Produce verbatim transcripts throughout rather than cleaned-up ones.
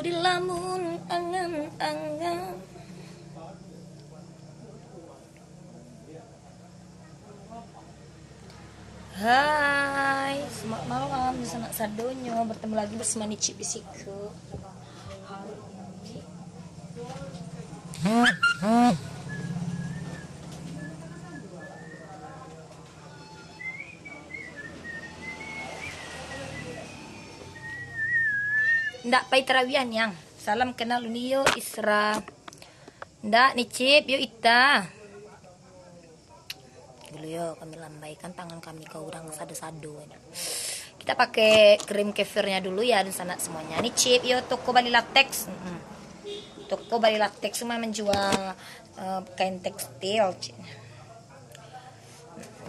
Dilamun angan-angan. Hai, selamat malam, sanak sadonyo. Bertemu lagi bersama Nicip di siko. Ndak pai tarawiah niang. Salam kenal uni yo, Isra. Ndak, Nicip, yo Ita. Dulu yo, kami lambaikan tangan kami ka urang sado-sado. Kita pakai krim kefirnya dulu ya, dunsanak semuanya. Nicip, yo toko Bali Latex. Mm-mm. Toko Bali Latex cuma menjual eh, kain tekstil.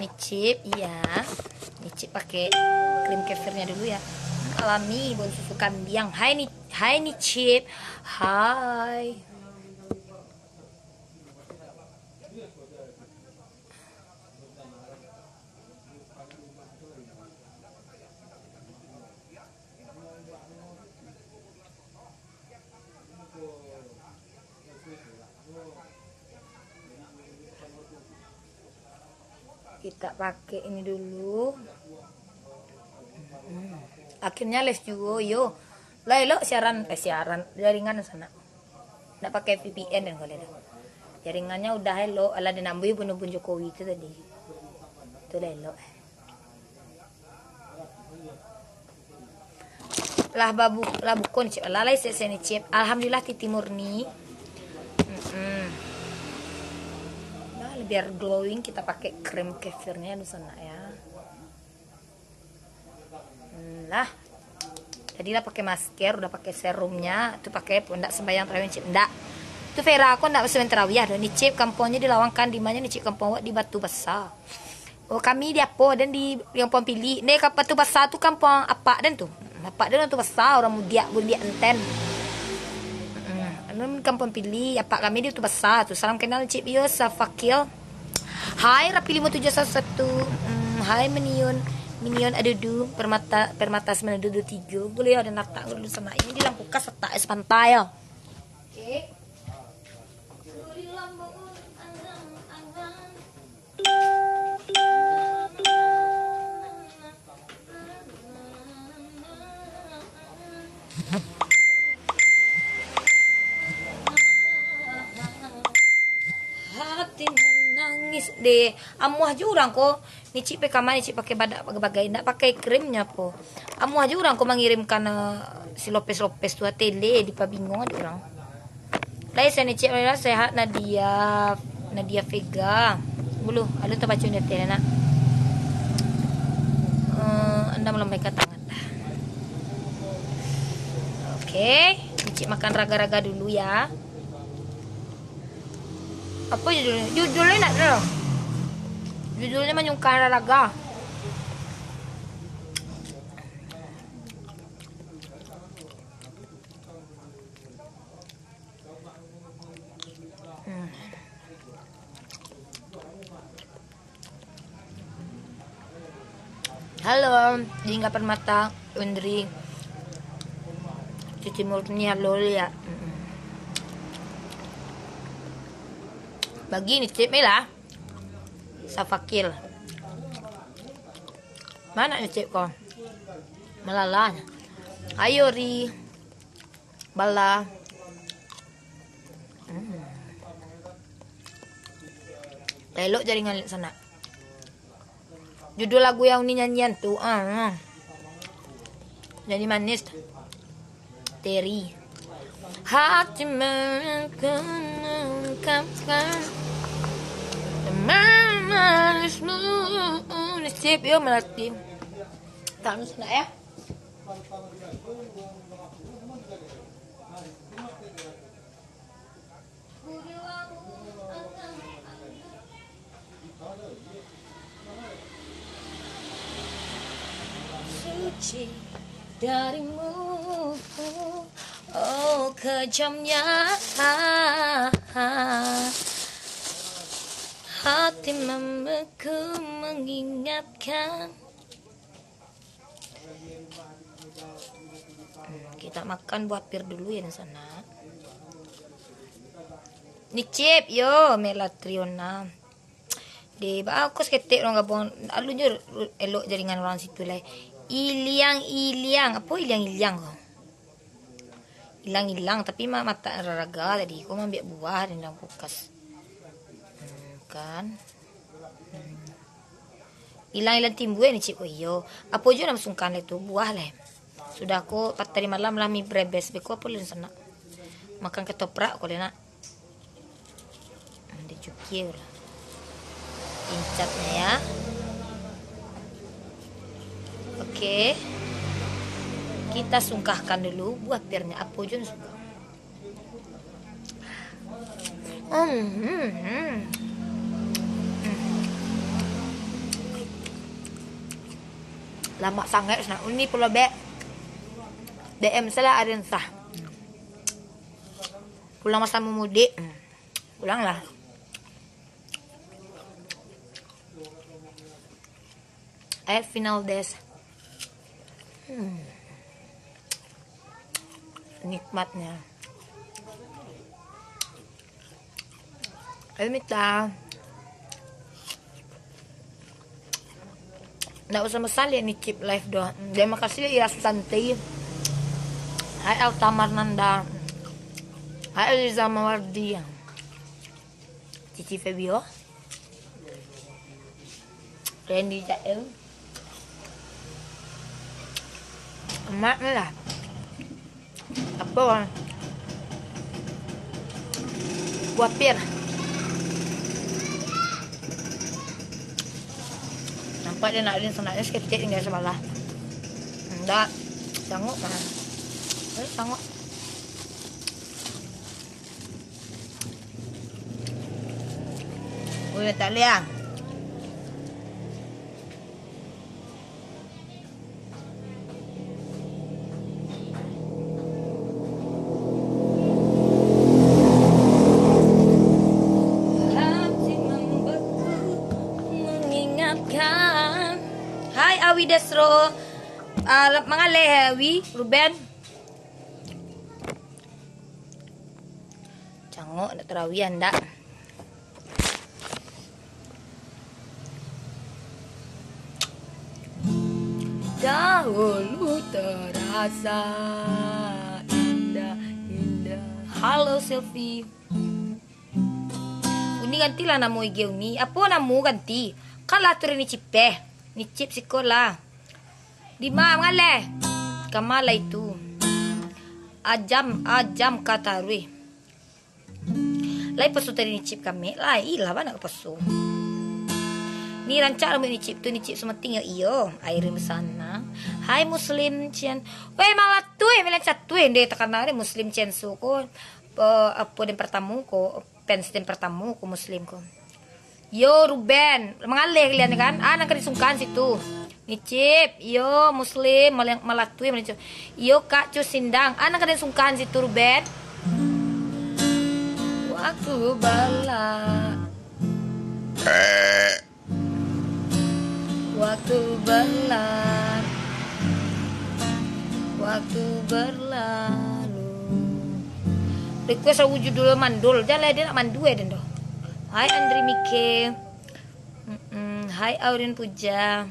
Nicip, iya. Nicip pakai krim kefirnya dulu ya. Alami, bau susu kambiang. Hai ni, hai Nicip. Hai. Kita pakai ini dulu. Hmm. Akhirnya les juo, yo. Lah elok siaran, eh, siaran, jaringan sanak. Ndak pakai V P N dan kalau dah. Jaringannya udah elok, alah dinambuih bunuh-bunuh Jokowi itu tadi. Itu lah elok. Lah babu-, lah buko Nicip. Lah lai sese Nicip. Alhamdulillah titi murni. Mm-mm. Nah, biar glowing kita pakai krim kefirnya di sana ya. Hmm, lah. Tadi lah pakai masker, udah pakai serumnya, tu pakai ndak sembahyang tarawih Nicip, ndak. Tu Vera, aku ndak sembahyang tarawih doh. Nicip kampuangnyo di Lawang kan, di mana Nicip kampuang awak di Batu Besar. Oh, kami di apo, dan di, di Kampung Pili. Ne, ka Batu Besar tu kampuang apak den tu. Apak den Batu Besar, urang Mudiak, Bundiak Enten. Hmm, anu Kampung Pili, apak kami di Batu Besar tu. Salam kenal Cik Bio, Safakil. Hai, Rapi lima tujuh satu satu. Hmm, hai, Minion, Minion Adudu, Permata, Permata sembilan dua dua tiga. Boleh ada natak dulu sama. Ini di lampu kas letak es pantai ya. Oke. Hati manangis deh. Amuah jo urang ko. Ni cik pai kama, ni cik pakai badak bagai-bagai. Ndak pakai krimnya po. Amuah jo urang ko mangirimkan, eh, si Lopez-Lopez tu, atele dipabingung dek urang. Lai, sehat ni, Cik Maira, sehat, Nadia, Nadia Vega. Buluh, alun tabaco di ateh, nak. Eh, anda melambaikan tangan dah. Oke, Cik makan raga-raga dulu ya. Apa judulnya? Judulnya nak tahu. Judulnya manyungkah raga. Hmm. Halo, Jingga Permata, Undri, Cici Murni, halo, ya. Mm-mm. Bagi ni, Cip, ni lah. Safakil. Mana ni, Cip, ko? Malala. Ayo, Ri. Bala. Hmm. Elok jaringan sanak. Judul lagu yang uni nyanyian tu, ah, ah. Nyanyi manis. Teri. Hati mengungkapkan manismu. Nasib yo melati. Tak sanak ya. Suci darimu, oh kejamnya hati membeku mengingatkan. Kita makan buah pir dulu ya, sanak. Nicip, yo, Melatriona. Di, ba, aku saketek urang gabuang, alun jo elok jaringan urang situ lai. Iliang-iliang, apo iliang-iliang ko? Ilang-ilang, tapi ma-, matak raraga tadi ko maambiak buah di dalam kulkas. Hmm, kan. Hmm. Ilang-ilang timbua Nicip ko, iyo. Apo juo nan sungkan lai tu, buah lai. Sudah ko, patari malam lah mi brebes, beko apo lai sanak. Makan ketoprak ko lai nak. Dicukia lah. Pincatnya ya. Oke. Kita sungkahkan dulu buah pirnya. Apo juo nan sungkah. Hmm, hmm, hmm. Hmm. Lamak sangaik, sanak. Uni pulo bek. D M salah, aren sah. Pulang masa mudik. Hmm. Pulanglah. Air final des. Hmm. Nikmatnya. Ayo, Mita. Ndak usah mesan liek Nicip live doh. Terima kasih liek Ira Susanti. Hai Alta Marnanda. Hai Eliza Mawardi. Cici Febio. Randy Jael. Amak ni lah. Apo? Buah pir. Nampak dia nak rin, senaknya saketek tinggal sabalah. Ndak. Sanggup mah. Eh, sanggup. Boleh tak liang? Hati membeku mengingatkan. Hai Awi Desro. Ah, mangaleh Awi, Ruben. Cangok nak tarawih andak. Dahulu terasa indah, indah. Halo Silvi. Uni gantilah namo I G Uni. Apo namo ganti? Kan lah tu Nicip eh. Nicip siko lah. Dima mangaleh. Kama lah itu. Ajam, ajam ka taruih. Lai paso tadi Nicip kamek, lai lah bana ka paso. Ni rancak rambuik Nicip tu, Nicip Sumating yo iyo, Airin Besana. Hai Muslim Cian. Weh, malah tu eh, malah catu eh, nde takana deh Muslim Cian su ko. Pe-, apo den pertamo ko, fans den pertamo ko Muslim ko. Yo, Ruben, mangaleh kalian kan? Ah, nan ka disungkan situ. Nicip, yo, Muslim, malang-, malatui, malincu. Yo, Kak Cus Sindang. Ah, nan ka disungkan situ, Ruben. Waktu bala. Waktu berla-, waktu berlalu. Request lagu judul Mandul. Jan lah, dia nak mandu eh, den doh. Hai Andri Mike. Mm-mm. Hai Aurin Puja.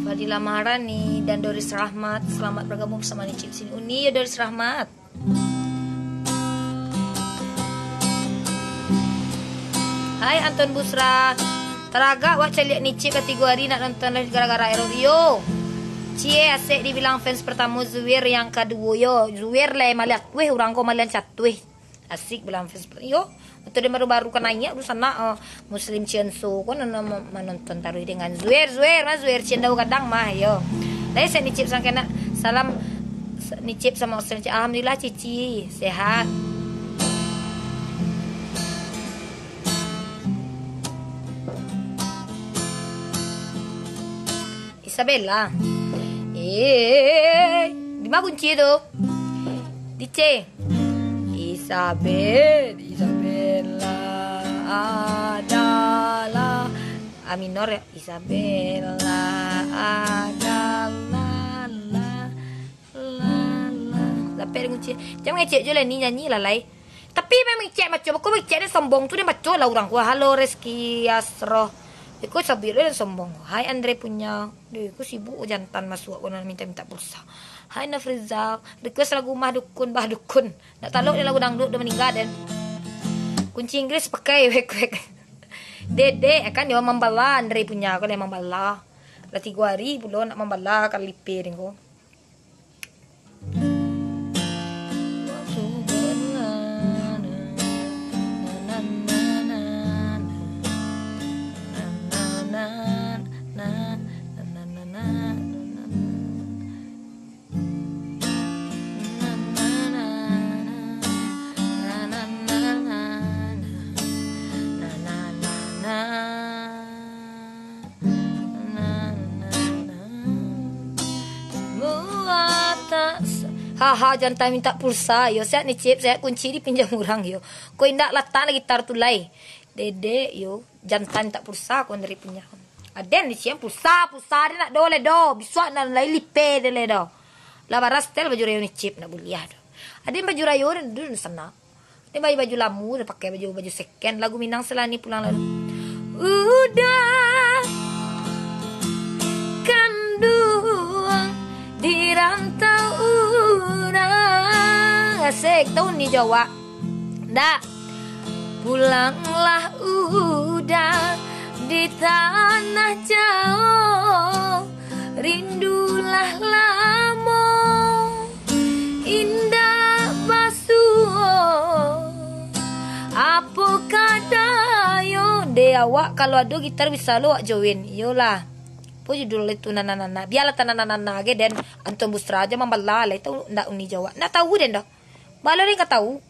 Fadila Maharani dan Doris Rahmat, selamat bergabung bersama Nicip sini. Uni ya Doris Rahmat. Hai Anton Busra. Taragak wak caliak Nicip lah tigo hari nak nonton live gara-gara Aero Rio. Cie, asek dibilang fans pertamo Zuir, yang kaduo yo Zuir lah maliak weh urang ko malian catuih. Asik bilang fans per-, yo. Untuk dia baru-baru ka naiak tu sanak, eh, Muslim Cienso ko nan ma-, manonton taruih dengan Zuer, Zuer, mah Zuer Ciendau gadang mah, yo. Lai sek Nicip sangkena. Salam s-, Nicip sama Australia. Alhamdulillah Cici sehat. Isabella. Eh, di ma kunci tu? Di C. Isabel, Isabella adalah minor, yo. Isabella adalah la, la, la. Sampai den kunci. Jan mangecek juo lah ni, nyanyi lah lai. Tapi memang mangecek macam, kok mangecek den sombong tu, den baco lah urang ko. Halo Reski Asroh. Iko sabuik lah den sombong. Hai Andre Punya. Deh, ko sibuk jantan masuak ko nan minta-minta pulsa. Hai Nafrizal, request lagu Mah Dukun, Bah Dukun. Ndak talok den lagu dangdut, dah maningga den. Kunci Inggris pakai wek-wek. Dedek, kan dia mambala, Andre Punya ko lah mambala. Lah tigo hari pulo nak mambala ka lipe den ko. Haha, jantan minta pulsa. Yo, sehat ni, Cip. Sehat, kunci dipinjam urang, yo. Ko indak latak lah gitar tu lai. Dedek, yo. Jantan minta pulsa, ko Andre Punya. Aden di siang pulsa, pulsa den ndak do lai do. Bisuak nan lai lipe den lai do. Lah bara setel baju rayo ni, Cip, ndak buliah do. Aden baju rayo den dulu sanak. Dia baju-baju lamu, dia pakai baju-baju second. Lagu Minang Selani pulang lalu. Uda kanduang di rantau urang. Asik, tahu ni Jawa. Ndak. Pulanglah Uda di tanah jauh. Rindulah lamo indak basuo. Apo kadayo? Deh awak, kalau ado gitar bisa lo awak join. Iyolah. Apo judul itu, nana-nana? Bialah tanah nana-nana ge den. Anton Busra aja mambala lah. Itu ndak uni Jawa. Ndak tahu den doh. Bala den ka tahu.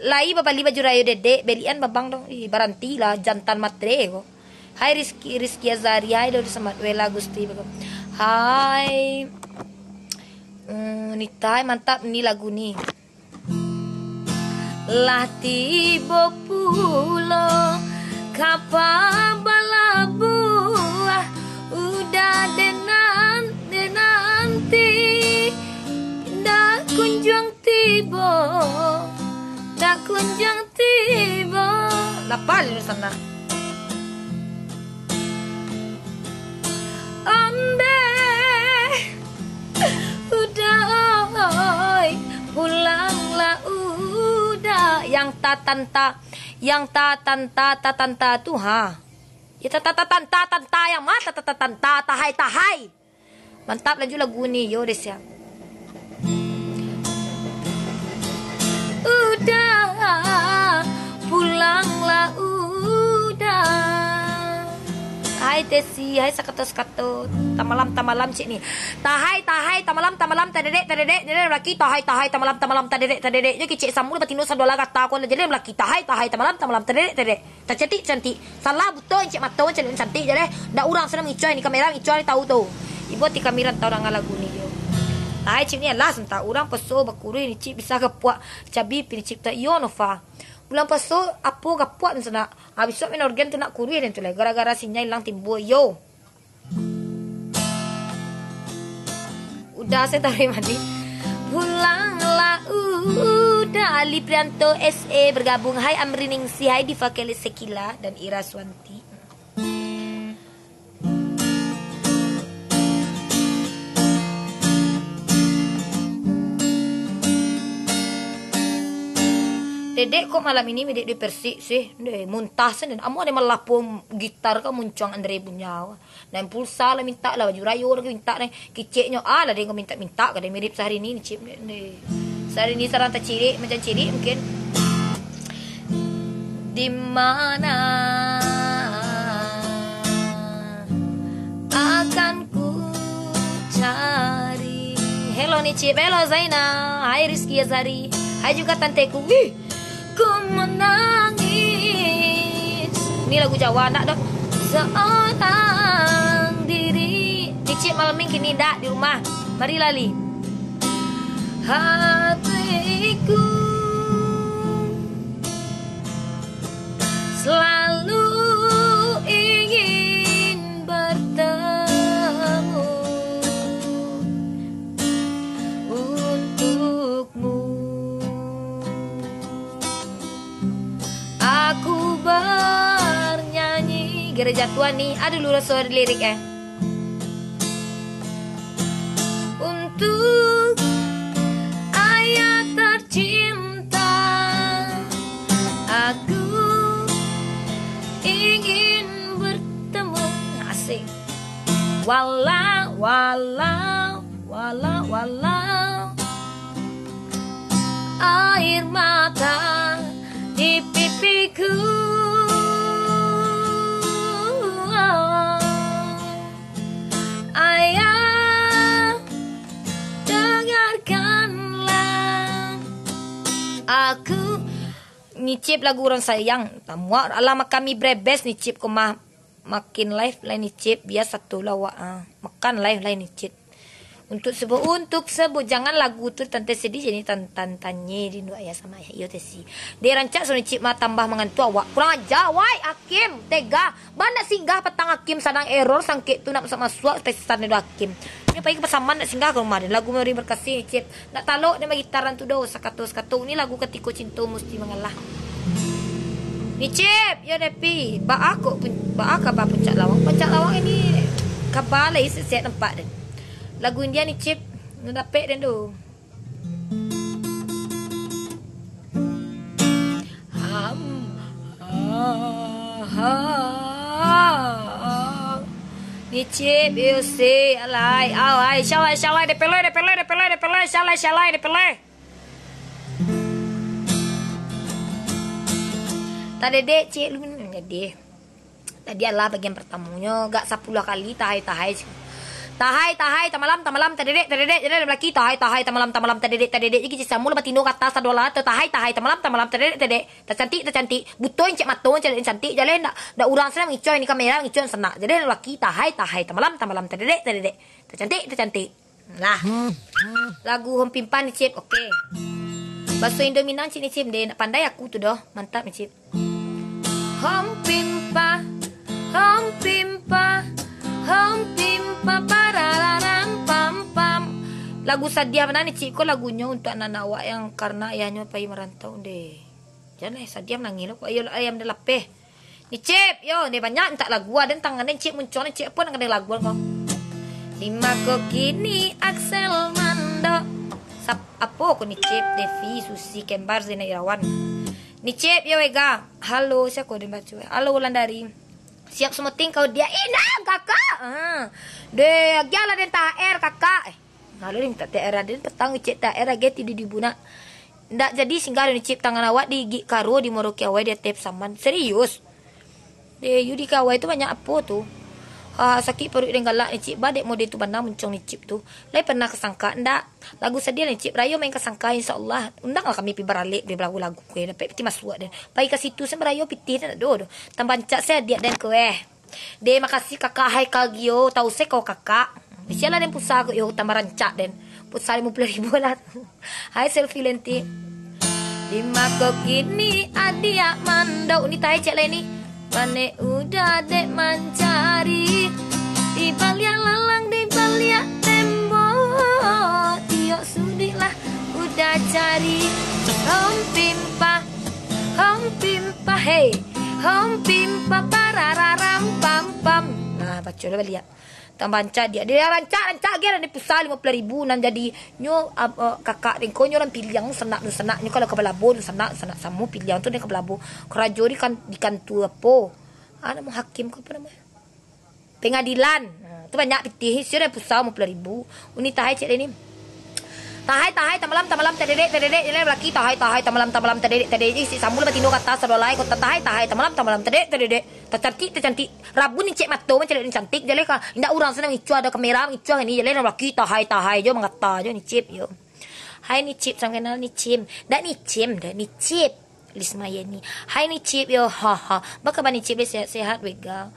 Lai babali baju rayo dedek, belian babang dong. Ih, barantilah, jantan matre ko. Hai Rizky, Rizky Azari, hai Dodi Samad, Wela Gusti, baga-, hai, mm, Nita, hai, mantap ni lagu ni. Lah tibo pulo kapa balabuah, Uda denan, denanti, ndak kunjuang tibo, ndak kunjuang tibo. Lapal di sana. Ondeh, Uda oi, pulanglah Uda. Yang tatanta, yang tatanta, tatanta tu, ha. Ya tata, tatanta, tanta yang ma, tata, tatanta, tahai, tahai. Mantap, lanjut lagu ni, yo, deh, siap. Uda, pulanglah Uda. Hai Tesi, hai sakato-sakato. Tamalam, tamalam cik ni. Tahai, tahai, tamalam, tamalam, tadedek, tadedek, jadi laki. Tahai, tahai, tamalam, tamalam, tadedek, tadedek. Nyo kicik samu, batino sadola gata, ko lah jadi laki. Tahai, tahai, tamalam, tamalam, tadedek, tadedek. Tacantik, cantik. Salah buto, encik mato, macam ni cantik je deh. Ndak urang sana mangicuah ni, kamera mangicuah ni tahu tu. Ibo ti kami rantau danga lagu ni yo. Tahai cik ni alah santa urang peso bakurui ni cik bisa gapuak cabi pi ni cik ta iyo Nova. Bulan peso apo gapuak tu sana. Habis tu main organ tu nak kurui dan tu lah gara-gara sinyal hilang timbul yo. Udah saya tarik mandi. Pulanglah Uda. Ali Prianto S A bergabung. Hai Amri Ningsih, hai Diva Kelly Sekila dan Ira Swanti. Dedek kok malam ini medek di Persik sih. Ndeh, muntah sen. Amuah dia melapo gitar ka muncuang Andre punya. Nan pulsa lah mintak lah, baju rayo lah mintak deh. Kiceknyo, ah, lah deh kau mintak-mintak, kadang mirip Syahrini ni, cip deh. Syahrini sarang tacirik, macam cirik mungkin. Di mana akan ku cari. Hello ni, cip. Hello, Zaina. Hai, Rizky Azari. Hai juga tanteku. Wih, ku menangis. Ni lagu Jawa, ndak doh? Seorang diri. Cicik malam ni kini ndak di rumah. Mari lali. Hatiku selalu ingin Jatuah ni, aduh, lu raso lirik, eh. Untuk ayah tercinta, aku ingin bertemu. Asik. Walau, walau, walau, walau air mata di pipiku. Ayah, dengarkanlah aku. Nicip lagu urang sayang. Tamuak alah makan mi brebes Nicip ko mah. Makin live lai Nicip, biasa tu lah wak, ah. Makan live lai Nicip. Untuk sebo, untuk sebo, jangan lagu tu tante sedih jadi tan-, tan-, tanye rindu ayah sama ayah. Iyo teh si. Dek rancak so Nicip mah tambah mangantu awak. Kurang aja, wai, Hakim, tega. Bana singgah patang Hakim sadang error sangkek tu nak masuak-masuak pesan dek Hakim. Nyo pai ka Pasaman nak singgah ka rumah den. Lagu Mori Berkasih Nicip. Nak talok den bagitaran tu doh, sakato-sakato. Ni lagu Katiko Cinto Musti Mangalah. Nicip, yo Depi. Baa kok pun, baa kaba Puncak Lawang? Puncak Lawang ini kaba lai sesek nampak den. Lagu India Nicip, nak dapek den doh. Ham. Ah, ha. Nicip, yo si, alai, alai, syalai, syalai, depeloi, depeloi, depeloi, depeloi, syalai, syalai, depeloi. Tadedek, cik, lu jadi. Tadi alah bagian pertamonyo, gak sapuluah kali, tahai, tahai. Tahai, tahai, tamalam, tamalam, tadedek, tadedek, jadi balaki, tahai, tahai, tamalam, tamalam, tadedek, tadedek, jadi samo lah batino ka ateh, sadolah, tahai, tahai, tamalam, tamalam, tadedek, tadedek, tacantik, tacantik, buto encek mato, encek cantik, jaleh ndak, ndak urang senang ngicuah, ini kamera ngicuah senak, jaleh balaki, tahai, tahai, tamalam, tamalam, tadedek, tadedek, tacantik, tacantik. Nah, lagu Hom Pimpa Nicip, oke. Baso Indo Minang cik Nicip deh, nak pandai aku tu doh, mantap Nicip. Hom Pimpa, Hom Pimpa, Hom Pimpa, parararam pam pam. Lagu sadiah bana Nicip ko lagunyo untuk anak-anak awak yang karena ayahnyo pai marantau deh. Jan eh, sadiah manangih lo, kok ayo ayam dah lapeh. Nicip, yo, ni banyak mintak lagu, ado tangan Nicip muncul, Nicip apo nak kena lagu ko? Di ma ko kini Axel mandok. Sap-, apo ko Nicip, Devi, Susi, Kembar, Zainal Irawan. Nicip, yo, Ega. Halo, sia ko den baco? Halo, Wulandari. Siap semuting kau dia. Inang, kakak. Ah. Deh, agiah lah den T H R, kakak. Eh. Lalu ni mintak T H R aden, petang cek T H R agai tidu di bunak. Ndak jadi singgah ado Nicip, tangan awak digigik karo, dimoroki awai di ateh Pasaman. Serius? Deh, yu di kawai tu banyak apo tu? Ha, sakik paruik den galak Nicip, ba dek mode tu bana muncung Nicip tu. Lai pernah kasangka, ndak? Lagu sadiah Nicip, rayo main kasangka, insya Allah. Undanglah kami pi baralek, pi balagu-lagu, kue, dapek piti masuak den. Pai ka situ, sen barayo pitih, ndak do, do. Tambah rancak se adiak den, kue. Deh, makasih kakak Haikal Gio, tau se kau kakak. Sialah den pulsa ko, yo, tambah rancak den. Pulsa limo puluah ribu lah. Hai selfie lenti. Di ma ko kini adiak mandok ni tai cek lai ni. Panek udah dek mancari. Di baliak lalang, di baliak tembok. Tiok sudik lah udah cari. Hom Pimpa, Hom Pimpa, hei. Hom Pimpa, parararam pam pam. Nah, baco lah baliak. Tambah rancak dia. Dia rancak, rancak agiah lah ni pulsa limo puluah ribu nan jadi. Nyo, ah, ah, kakak den ko nyo urang Piliang, sanak tu sanak. Nyo kalau ka Balabo tu sanak, sanak samo Piliang tu den ka Balabo. Karajo di kan-, di kantua apo? Ah, namo hakim ko apo namo? Pengadilan. Nah, tu banyak pitih. Sio den pulsa limo puluah ribu. Uni tahai cek den ni. Tahai, tahai, tamalam, tamalam, tadedek, tadedek, jalan balaki, tahai, tahai, tamalam, tamalam, tadedek, tadedek, isi sambul batino ka ateh, sadolai, kota, tahai, tahai, tamalam, tamalam, tadedek, tadedek, tacantik, tacantik, rabun incek mato, mancaliak cantik, jaleh ka, indak urang senang ngicuah, ado kamera ngicuah ni, jaleh balaki, tahai, tahai, jo mangata, jo Nicip, yo. Hai Nicip, salam kenal Nicim. Dak Nicim, dak Nicip. Lismayeni. Hai Nicip, yo, ha, ha. Baa kaba Nicip, deh, sehat-sehat, wega.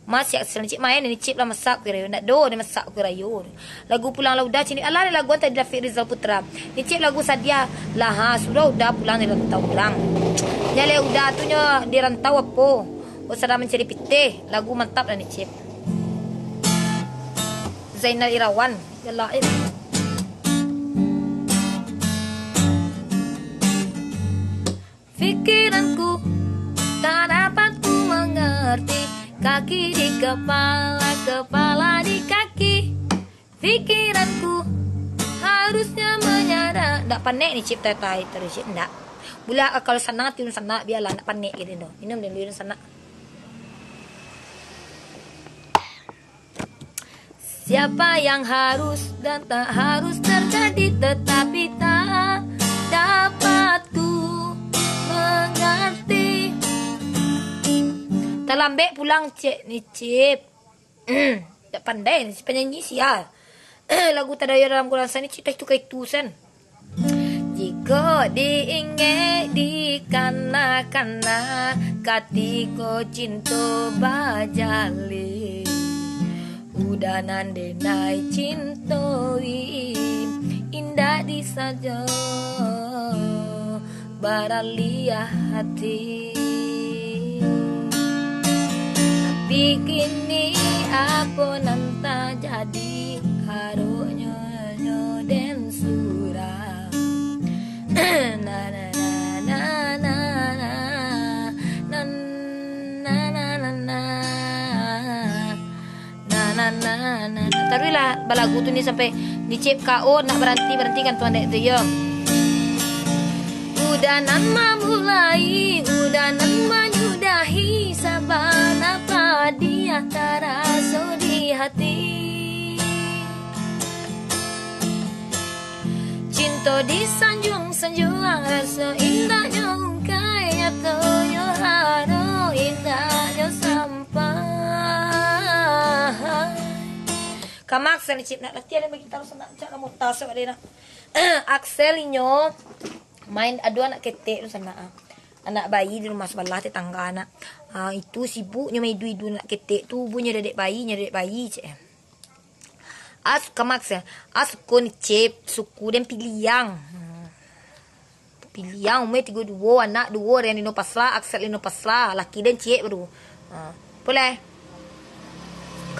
Masiak sila Nicip main, Nicip lah masak kue rayo. Ndak do, den masak kue rayo. Lagu Pulang Lah Udah, cini. Alah, lagu tadi David Rizal Putra. Nicip lagu sadiah. Lah, ha, sudah udah pulang dari rantau urang. Nya leh udah tu nyo di rantau apo? Oh, sadang mancari pitih. Lagu mantap lah Nicip. Zainal Irawan. Yalah, eh. Pikiranku tak dapat ku mengerti. Kaki di kepala, kepala di kaki. Pikiranku harusnya menyadar. Ndak panek ni, Cip, tai-tai terus, Cip, ndak. Bulak kalau sanak, tiun sanak, bialah, ndak panek gitu, no. Minum dulu, sanak. Siapa yang harus dan tak harus terjadi, tetapi tak dapat ku mengerti. Talambek pulang, Cip, ni, Cip. Tak pandai ni si penyanyi, sia. Lagu tadayo dalam kurasa ni, Cip, tak itu ka itu, sen. Jiko diingek dikana-kana, katiko cinto bajalin, udanan denai cinto wi indak disajo baraliah hati. Tapi kini apo nan tajadi, haroknyo nyo den surang. Na, na, na, na, na, na, na, na, na, na, na. Na, na, na, na, na. Taruihlah balagu tu ni sampai ni, Cip, K O, nak baranti, barantikan tu anak tu, yo. Udanan mamulai, udanan manyudahi, sabana padiah taraso di hati. Cinto disanjuang-sanjuang, raso indahnyo ungkai, nyatonyo haro, indahnyo sampai. Kama Axel ni, Cip, nak latihan main gitar, sanak, cak kamu tasok deh, nak. Axel inyo main, ado anak ketek tu, sanak, ah. Anak bayi di rumah sabalah, tetangga, nak. Ah, itu sibuknyo main idu-idu anak ketek tu, bunyo dadek bayi, nyo dadek bayi, cek. As, Kama Axel, as ko ni, Cip, suku den Piliang. Hmm. Piliang, umua tigo duo, anak duo, Rian Lino Pasla, Axel Lino Pasla, laki den ciek baru. Ha, pulai.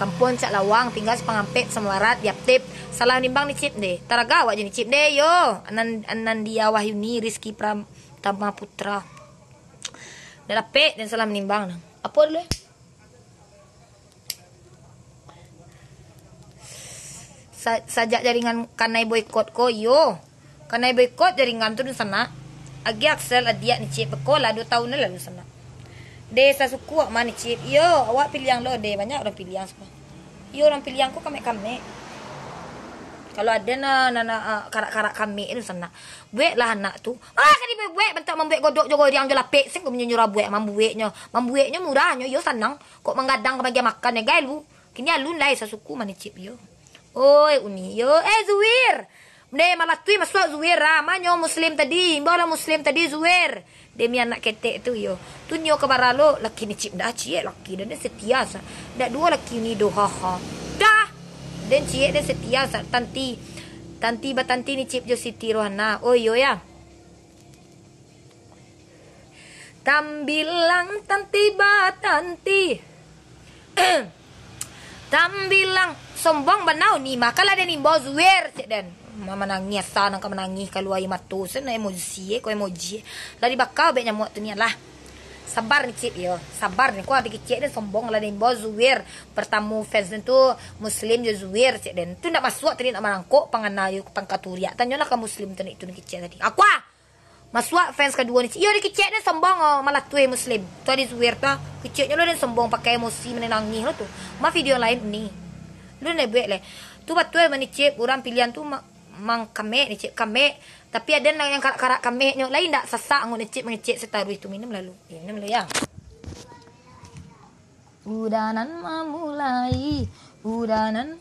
Kampuang Cak Lawang, tingga Sipangampek, Samabarat, Yaptip. Salah nimbang ni, Cip, deh. Taraga awak je ni, Cip, deh, yo. Anan-, Anandia Wahyuni, Rizky Pratama Putra. Dah dapek, dan salah menimbang, nah. Apo dulu, eh? Sa-, sajak jaringan kanai boikot ko, iyo. Kanai boikot jaringan tu, dunsanak. Agi Axel, adiak ni, Cip, beko lah duo taun lah, dunsanak. Deh, sasuku awak mah ni, Cip. Iyo, awak Piliang lo, deh. Banyak urang Piliang siko. Iyo, urang Piliang ko kamek-kamek. Kalau ado na, na, na, ah, karak-karak kamek, dunsanak. Bueklah anak tu. Ah, ka dibuek-buek, bantuak mambuek godok jo goriang jo lapek. Sing ko manyuruah buek, mambueknyo. Mambueknyo murah nyo, iyo, sanang. Kok manggadang ka bagian makan, eh, gai lu. Kini alun lai sasuku mah ni, Cip, yo. Oi, Uni, yo. Eh, Zuir. Deh, malatui masuak Zuir, ah. Ma nyo Muslim tadi? Imbau lah Muslim tadi, Zuir. Demi anak ketek tu, yo. Tu nio ka bara lo, laki ni, Cip, dah ciek laki, dah, dah setia sa. Dah duo laki ni, doh, ha, ha. Dah. Den ciek, den setia sa. Tanti. Tanti batanti ni, Cip, jo Siti Rohana. Oh, iyo, ya. Tambilang tanti batanti. Tambilang sombong banau ni, makalah den imbau Zuir, cek den. Ma-, manangih, asa nan ka manangih, kalua aia mato, sen emosi, eh, ko emoji, eh. Lah dibaka bek nyamuak tu ni lah. Sabar ni, Cip, yo. Sabar ni, ko ado kicek den sombong, lah den imbau Zuir. Pertamo fans den tu Muslim jo Zuir, cek den. Tu ndak masuak tadi, ndak marangkok pangana yo pangka turiak. Tanyolah ka Muslim tu ni, tu ni kicek tadi. Akua! Masuak fans kaduo ni, Cip. Iyo, dikicek den sombong, oh, malatui Muslim. Tu adi Zuir tu, ah. Kiceknyo lo den sombong, pakai emosi, manangih lo tu. Ma video lain ni. Lu ndak buek leh. Tu batua mah ni, Cip, urang Piliang tu ma-, mang kamek ni, Cip, kamek. Tapi ado nan yang karak-karak kameknyo, lain ndak sasak angot ni, Cip, mangecek sataruih tu. Minum lalu. Minum lu, ya. Udanan mamulai, udanan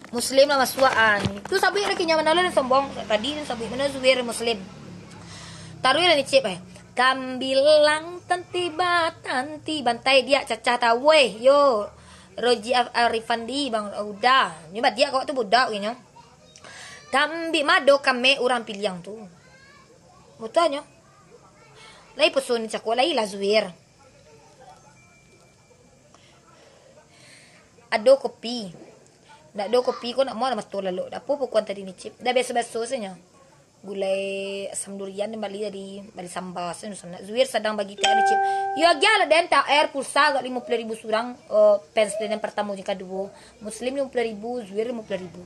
Muslim lah masuak, ah, ni. Tu sabuik lagi nyo, mano lah sombong. Tadi tu sabuik mano Zuir Muslim. Taruih lah ni, Cip, eh. Tambilang tanti batanti, bantai diak cacah taweh, yo. Roji Af-, Arifandi, Bang Uda. Nyo badiak kawak tu budak, nyo. Tambi mado kamek urang Piliang tu. Butuh nyo. Lai pusun cako, lai lah Zuir. Ado kopi. Ndak ado kopi ko nak mau mato lalok. Dak apo pukuan tadi ni, Cip. Dah biaso-biaso sajo. Gulai asam durian, den bali tadi, bali samba, sen-, sen-, Zuir sadang bagi T H R, Cip. Yo, agiah lah den T H R, pulsa agak limo puluah ribu surang, eh, fans den yang pertamo jo kaduo. Muslim limo puluah ribu, Zuir limo puluah ribu.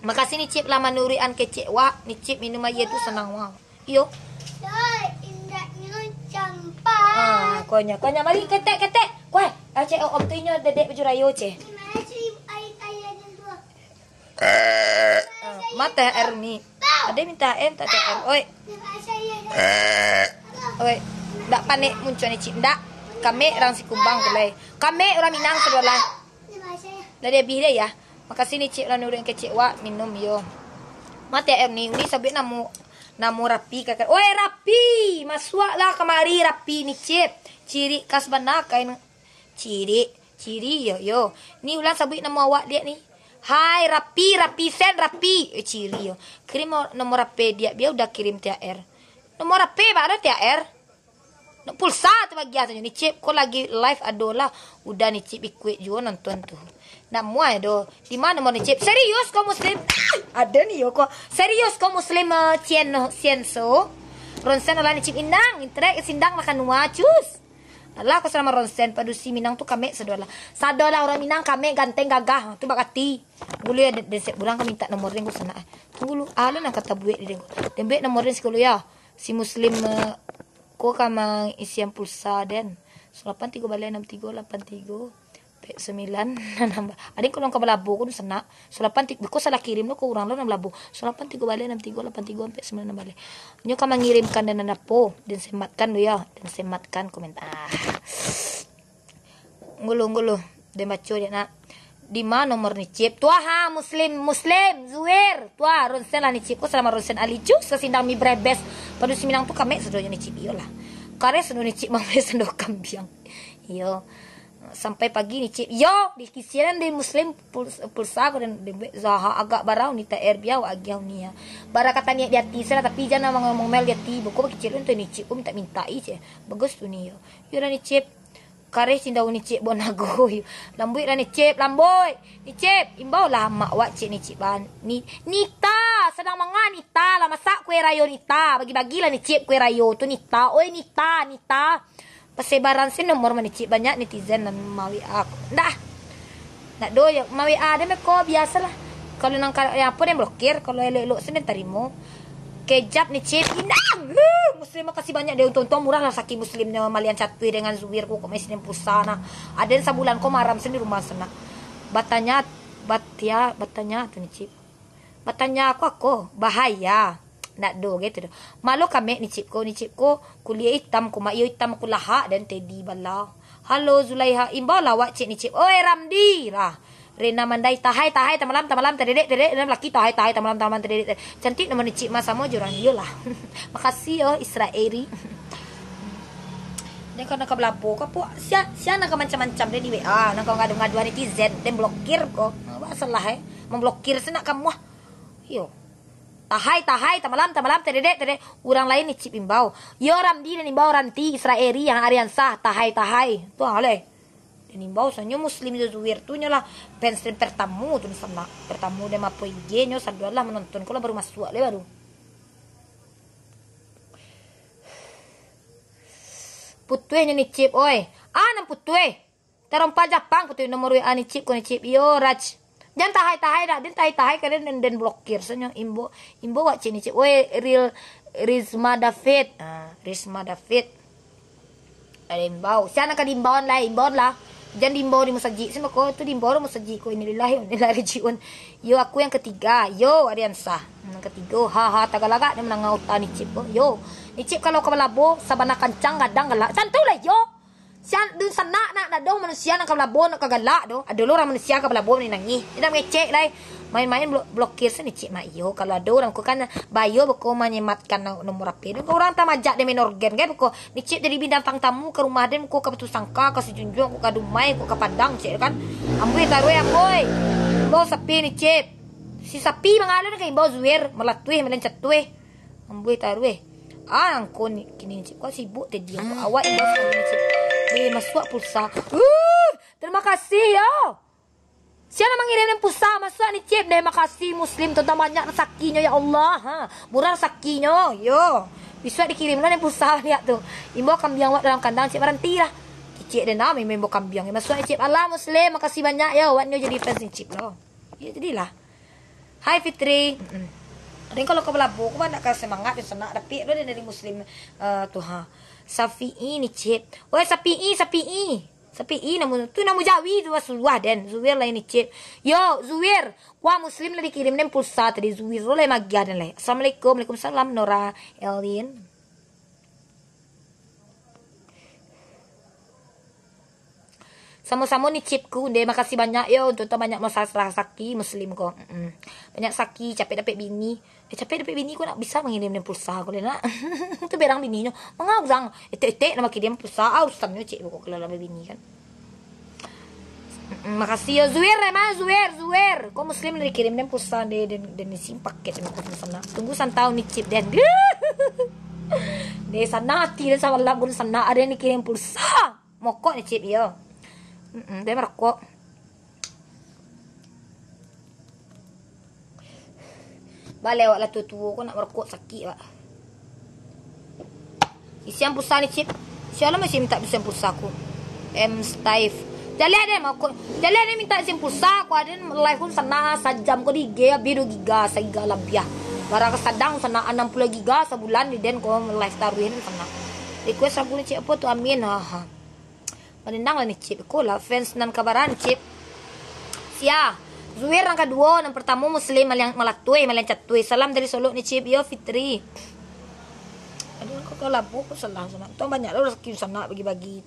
Makasih ni Cip lah manuruikan kecek wak, ni Cip minum aia tu sanang wak. Iyo. Doi, indaknyo campak. Ah, konyo, konyo. Mari, ketek, ketek. Kuai, ah, cek, om tu inyo dedek baju rayo, cek. Terima kasih, ai-, ayah dan dua. Ah, mata air ni. Ada minta air, minta air. Oi. Terima kasih, ayah dan dua. Oi. Ndak panek muncuan ni, Cik. Ndak. Kami orang Sikumbang tu, lai. Kami orang Minang sebelah. Terima kasih, ayah. Dah dia habis dah, ya. Makasih ni, Cik, lah nurun kecek wak minum, yo. Mati air ni, ni sabik namo, namo Rapi, kakak. Oi, Rapi! Masuaklah kamari, Rapi ni, Cip. Cirik khas bana kain. Cirik, ciri, yo, yo. Ni ulang sabik namo awak, liek ni. Hai, Rapi, Rapi Sen, Rapi. Eh, ciri, yo. Kirim nomor Rapi diak, bia udah kirim T H R. Nomor Rapi, baru T H R. Nak pulsa tu bagian tu, ni Cip, ko lagi live ado lah. Udah ni Cip ikuik juo nonton tu. Nak muai do. Di ma nomor ni Cip? Serius ko Muslim? Ada ni yo ko. Serius ko Muslim, eh, Cien no, Cien so. Ronsen lah ni Cip, inang, interek sindang makan nua, cus. Alah, ko salama Ronsen, padusi Minang tu kamek sadolah. Sadolah urang Minang kamek, ganteng, gagah. Tu bakati. Dulu ya, den, den sep bulan ka minta nomor den ko sanak. Tunggu lu, ah, lu nan kata buek di den ko. Den buek nomor den sikulu ya. Si Muslim, eh, ko ka maisian pulsa den. Salapan tigo baleh anam tigo lapan tigo, pek sambilan, anam ba-, adin kalau ka balabo ko sanak. Salapan ti-, ko salah kirim lo ko urang lo nan balabo. Salapan tigo baleh anam tigo lapan tigo, pek sambilan, anam baleh. Nyo ka mangirimkan dan nan apo, den sematkan lo ya, den sematkan komentar. Ngulu, ngulu. Den baco je nak. Di ma nomor ni Cip? Tuah ha, Muslim, Muslim, Zuir. Tuah, Ronsen lah ni Cip. Ko salama Ronsen Ali cus, sasindang mi brebes. Padusi Minang tu kamek sadonya ni Cip. Iyolah. Kares sado ni Cip, mamai sando kambiang. Iyo. Sampai pagi ni Cip. Yo, di kisian di Muslim pul-, pulsa ko dan di Zaha agak barau ni T H R biau agiau ni ya. Bara kata niat di hati salah, tapi jangan ngomel di hati. Boko bakicil tu ni Cip, ko minta-minta i, Cip. Bagus tu ni yo. Yo lah ni Cip. Kareh cindau ni Cip, bonago. Lambuik lah ni Cip, lambuik. Ni Cip, imbau lah amak wak Cip ni Cip ban. Ni, Nita, sadang manga Nita lah, masak kue rayo Nita. Bagi-bagilah ni Cip kue rayo tu Nita. Oi Nita, Nita. Pasebaran si nomor ma ni Cip, banyak netizen nan ma-W A aku. Ndak. Ndak do yo, ma-W A den beko biasalah. Kalau nang ka-, yang apo den blokir, kalau elok-elok sen den tarimo. Kejap ni Cip, inang. Huh, Muslim makasih banyak deh, untung-untung murah lah saki Muslimnyo malian catuih dengan Zuir ko kok masih pulsa nah. Aden sabulan ko maram sen di rumah sana. Batanya, batia, batanya tu ni Cip. Batanya aku, aku bahaya. Ndak do gitu doh. Malu kamek ni Cip ko, ni Cip ko kuliah itam ko mak iyo itam ko lahak dan tedi bala. Halo Zulaiha, imbau lawak Cip ni Cip. Oi Ramdi lah. Rena Mandai, tahai, tahai, tamalam, tamalam, tadedek, tadedek, dalam laki, tahai, tahai, tamalam, tamalam, tadedek, tadedek. Cantik nomor ni Cik Mas samo jo urang. Iyolah. Makasih yo, Israeli. Dia kau nak ka belabo ka po? Sia, sia nak ka macam-macam dia di W A, nak ka ngadu-ngadu netizen, dan blokir ko. Apa salah eh? Memblokir senak kamu ah. Yo. Tahai, tahai, tamalam, tamalam, tadedek, tadedek. Urang lain ni Cip imbau. Yo Ramdi dan imbau Ranti, Israeli, yang Ariansah, tahai, tahai. Tu ah, oleh. Dan imbau sanyo Muslim jo Zuir tu nyo lah fans den pertamo tu di sana. Pertamo den mapo I G nyo, saduan lah menonton ko lah baru masuak le baru. Putuih nyo ni Cip, oi. Ah, nan putuih. Tarompa Japang putuih nomor W A ni Cip, ko ni Cip. Iyo, Raj. Jan tahai-tahai dak, den tahai-tahai ka den, den, den blokir sanyo. Imbo, imbo wak Cip ni Cip. Oi, Ril, Rizma David. Ah, Rizma David. Ada imbau. Sia nan ka diimbauan lah, imbauan lah. Jan diimbau di musajik. Sia mako tu diimbau di musajik ko, innalillahi wa inna ilaihi rajiun. Yo, aku yang ketiga. Yo, Ariansah. Yang ketiga. Ha, ha, tagalagak dia menangah uta ni Cip ko. Yo. Ni Cip kalau ka balabo, sabana kancang gadang galak. Santuilah yo. Sia dun sanak nak dadong manusia nan ka balabo nak ka galak doh. Ado lo urang manusia ka balabo ni nangih. Indak mangecek lai. Main-main blo-, blokir se ni Cik Mak iyo. Kalau ado urang ko kan bayo beko manyematkan na-, nomor H P. Dun urang tamajak den main organ kan beko. Ni Cik jadi binatang tamu ka rumah den beko ka Batusangka, ka Sijunjuang, ko ka Dumai, ko ka Padang cek kan. Amboi taruih amboi. Imbau sapi ni Cik. Si sapi mangalo ka imbau Zuir, malatuih, malencatuih. Amboi taruih. Ah, angko ni, kini ni Cik. Kau sibuk tadi aku. Awak imbau sapi ni Cik. Boleh masuak pulsa. Uh, terima kasih yo. Sia nan mangirim den pulsa, masuak ni, Cip, deh. Makasih, Muslim, tu banyak rezakinyo, ya Allah. Ha, murah rezakinyo, yo. Bisuak dikirim lah den pulsa, lihat tu. Imbau kambiang wak dalam kandang, Cip, baranti lah. Kicik den, ah, imbau kambiang. Masuak ni, Cip. Alah, Muslim, makasih banyak, yo. Wak nyo jadi fans ni, Cip, lo. Yo, jadilah. Hai, Fitri. Mm-mm. Ado kalau ka balabo, ko banyak ka semangat, den sanak, dapek lo den dari Muslim, eh, tu, ha. Safi'i ni, Cip. Woi, Safi'i, Safi'i. Sapi'i namu tu, namu jawi tu, wah, suah den. Zuir lah ini, Cip. Yo, Zuir. Wah, Muslim lah dikirim den pulsa tadi. Zuir lo lah magiah den lai. Assalamualaikum. Waalaikumsalam, Nora Elin. Samo-samo ni, Cip ku, deh. Makasih banyak yo, untuak tu banyak masalah saki Muslim ko. Mm-mm. Banyak saki, capek dapek bini. Eh, capek dapek bini ko, nak bisa mangirim den pulsa ko lai, nak. Tu berang bininyo. Manga urang etek-etek nak makirim pulsa, ah, urusannyo, Cik, pokok kalau lah babini kan. Mm-mm, makasih yo, Zuir, eh, ma, Zuir, Zuir. Ko Muslim dikirim den pulsa, den, den, den isi paket, den, den sanak. Tunggu santaun ni, Cip, den. Deh, sanak ati den sabalak, gun sanak, ado nan dikirim pulsa. Mokok ni, Cip, iyo. Mm-mm, den marokok. Baleh awak lah tuo-tuo ko nak marokok, sakik awak. Isian pulsa ni, Cip. Sialah masih minta isian pulsa ko. M Steve. Jaleh den mokok. Jaleh den minta isian pulsa ko, aden live ko sanak sajam ko di I G, abih duo giga, sagiga labiah. Bara ka sadang sanak anam puluah giga sabulan di den ko live taruih ni sanak. Request lagu ni, Cip, apo tu, Amin. Ha, ha. Manendang lah ni, Cip. Ko lah fans nan kabaran, Cip. Sia. Zuir nan kaduo, nan partamo Muslim, maliang malatuih, maliang catuih. Salam dari Solok ni, Cip. Yo, Fitri. Aduh, kok kau labuh, kok salah sanak. Tong banyak lah rezeki sanak bagi-bagi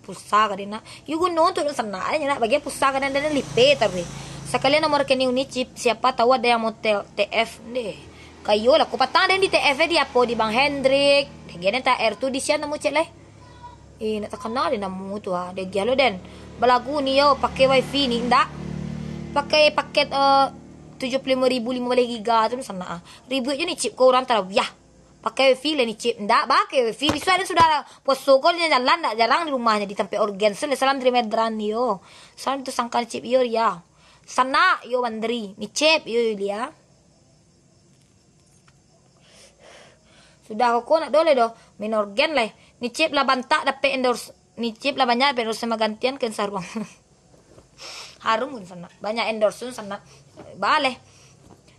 pulsa ka den nak. Yo guno tu sanak, nak bagi pulsa ka den, den lipe taruih. Sakalian nomor rekening Uni, Cip. Siapa tahu ada yang mau tel-, T F deh. Kayo lah, ko patang den di T F di apo, di Bang Hendrik. Deh, den T H R tu di sian namu, Cik, lai. Eh, nak takana den namu tu, ah. Deh, giah lo den. Balagu ni yo, pakai wifi ni, ndak? Pakai paket, eh, tujuh puluh limo ribu limo baleh giga tu, sanak, ah. Ribuik jo ni, Cip, ko urang tarawiah. Pakai wifi lah ni, Cip. Ndak pakai wifi. Bisuak den sudah puaso ko, den jalan ndak jarang di rumah, di tampek organ. Salam dari Medan yo. Salam tu sangkan, Cip, yo, Ria. Sanak yo, Wandri. Ni, Cip, yo, Yulia. Sudah ko nak do lai doh, main organ lai. Ni Cip lah bantak dapek endorse, ni Cip lah banyak dapek endorse magantian Ken Saruang. Harum pun sanak, banyak endorse sanak. Baleh.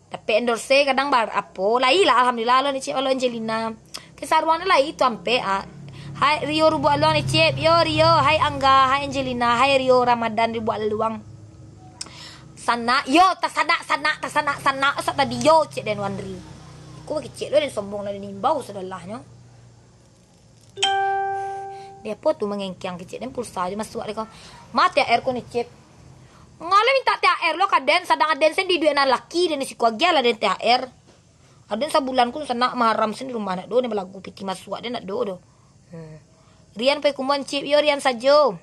Dapek endorse kadang bar-, apo, lai lah, alhamdulillah lo ni Cip, lo Angelina. Ken Saruang ni lai tu ampek, ah. Hai Rio Rubuak Luang ni Cip, yo Rio, hai Angga, hai Angelina, hai Rio Ramadan Rubuak Luang. Sanak, yo, tasanak, sanak, tasanak, sanak, sak tadi yo, cek den Wandri. Ko bakicek lo den sombong lah, den imbau sadolahnyo. Deh apo tu mangengkiang kicek den pulsa jo masuak deh ko. Ma T H R ko ni, Cip. Ngalo minta T H R lo ka den, sadang aden sen di duit nan laki den di siko agiah lah den T H R. Aden sabulan ko sanak maharam sen di rumah nak do, den balagu piti masuak den nak do doh. Hmm. Rian Paikumuan, Cip, yo Rian sajo.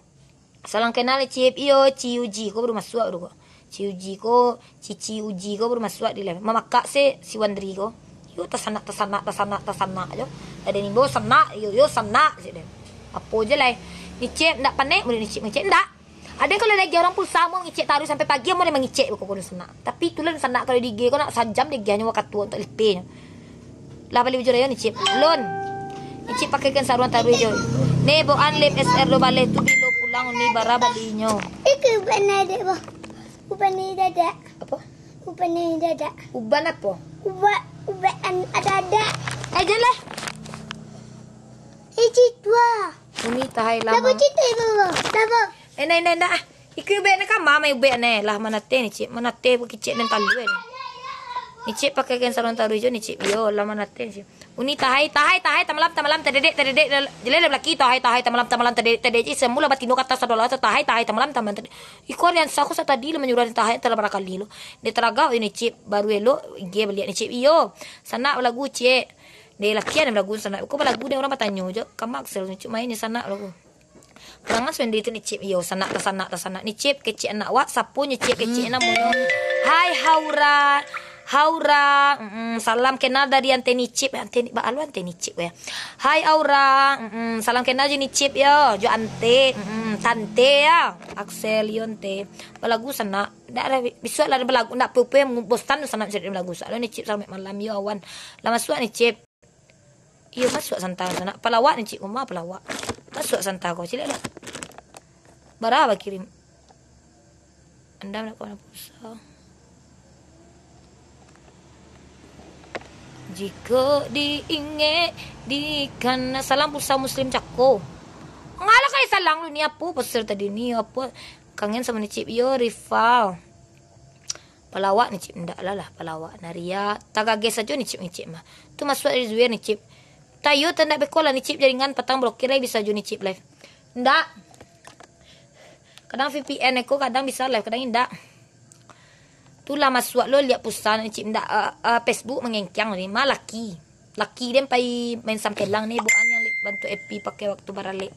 Salam kenal, Cip. Iyo, Ci Uji ko baru masuak tu ko. Ci Uji ko, Cici Uji ko baru masuak di live. Mamakak se si Wandri ko. Yo, tasanak, tasanak, tasanak, tasanak jo. Ado ni bo sanak, yo, yo sanak se den. Apo je lai. Ni Cip, ndak panek, murid ni Cip, ngecek ndak. Ado kalau lagi urang pulsa, mau ngecek taruih sampai pagi, mau mangecek ko, ko sanak. Tapi itulah sanak kalau di I G ko nak sajam deh, giahnyo wakatu untuk lipenyo. Lah bali bujur ayo ni, Cip. Lun. Ni, Cip, pakai kan saruang taruih jo. Ne, boan lip S R do baleh tu bilo pulang ni bara balinyo. Itu uban dek, boh. Uban ni dadak. Apo? Uban ni dadak. Uban apo? Uban, uban an-, ada-ada. Eh, janlah. Eh, cik tua. Uni tahai lama. Dah cik tua, boh. Dah, boh. Eh, nai, nai, nai. Ikui ubek ne ka ma, mai ubek ne. Lah, manateh ni, Cik. Manateh bukicik nan talua ni. Ni, Cik, pakai kain saruang taruih jo ni, Cik. Yo, lah manateh, Cik. Uni tahai, tahai, tahai, tamalam, tamalam, tadedek, tadedek, jelai lah balaki, tahai, tahai, tamalam, tamalam, tadedek, tadedek, Cik. Semula batino kata sadolah, tahai, tahai, tamalam, tamalam, tadedek. Iko Rian Saku satadi lah manyuruah tahai, telah barakali lo. Dia taragak ni, Cik. Baru elok, dia baliak ni, Cik. Iyo. Sanak balagu, Cik. Dia lakian yang balagu sanak. Kok balagu dia orang batanyo jo. Kamak sel, Cik, main ni sanak balagu. Parangai Wendy tu ni, Cip. Iyo, sanak, tasanak, tasanak. Ni, Cip, kecek anak wak. Sapo nyo, Cip, kecek namonyo? Hai, Haura. Haura, mm, salam kenal dari Ante Nicip. Ante Ni-, ba alo Ante Nicip, ya. Hai Aura, mm, salam kenal jo Nicip, yo. Jo Ante, mm, Tante, ya. Axel, yo, Ante. Balagu sanak. Ndak ado, bisuak lah balagu. Ndak pupuih, bosan sanak cari balagu. Soalnyo Nicip, salamat malam, yo, awan. Lah masuak Nicip. Iyo, masuak santa sanak. Palawak Nicip, uma palawak. Masuak santa ko, caliak lah. Bara bakirim. Anda nak kawan pulsa. Jiko diingek, dikana. Salam pulsa Muslim Cako. Ngalah kai salang lu ni, apo poster tadi ni, apo? Kangen samo Nicip, yo, Rival. Palawak Nicip, ndak lah, lah, palawak. Naria, tagageh sajo Nicip, Nicip mah. Tu masuak dari Zuir Nicip. Tayo, tandak beko lah Nicip, jaringan patang blokir, lai bisa jo Nicip live. Ndak. Kadang V P N eko kadang bisa live, kadang indak. Tu lah masuak lo liek pulsa Nicip, ndak, eh, eh, Facebook mangengkiang ni, mah laki. Laki den pai main sampelang ni, bukan yang bantuak Epi pakai waktu baralek.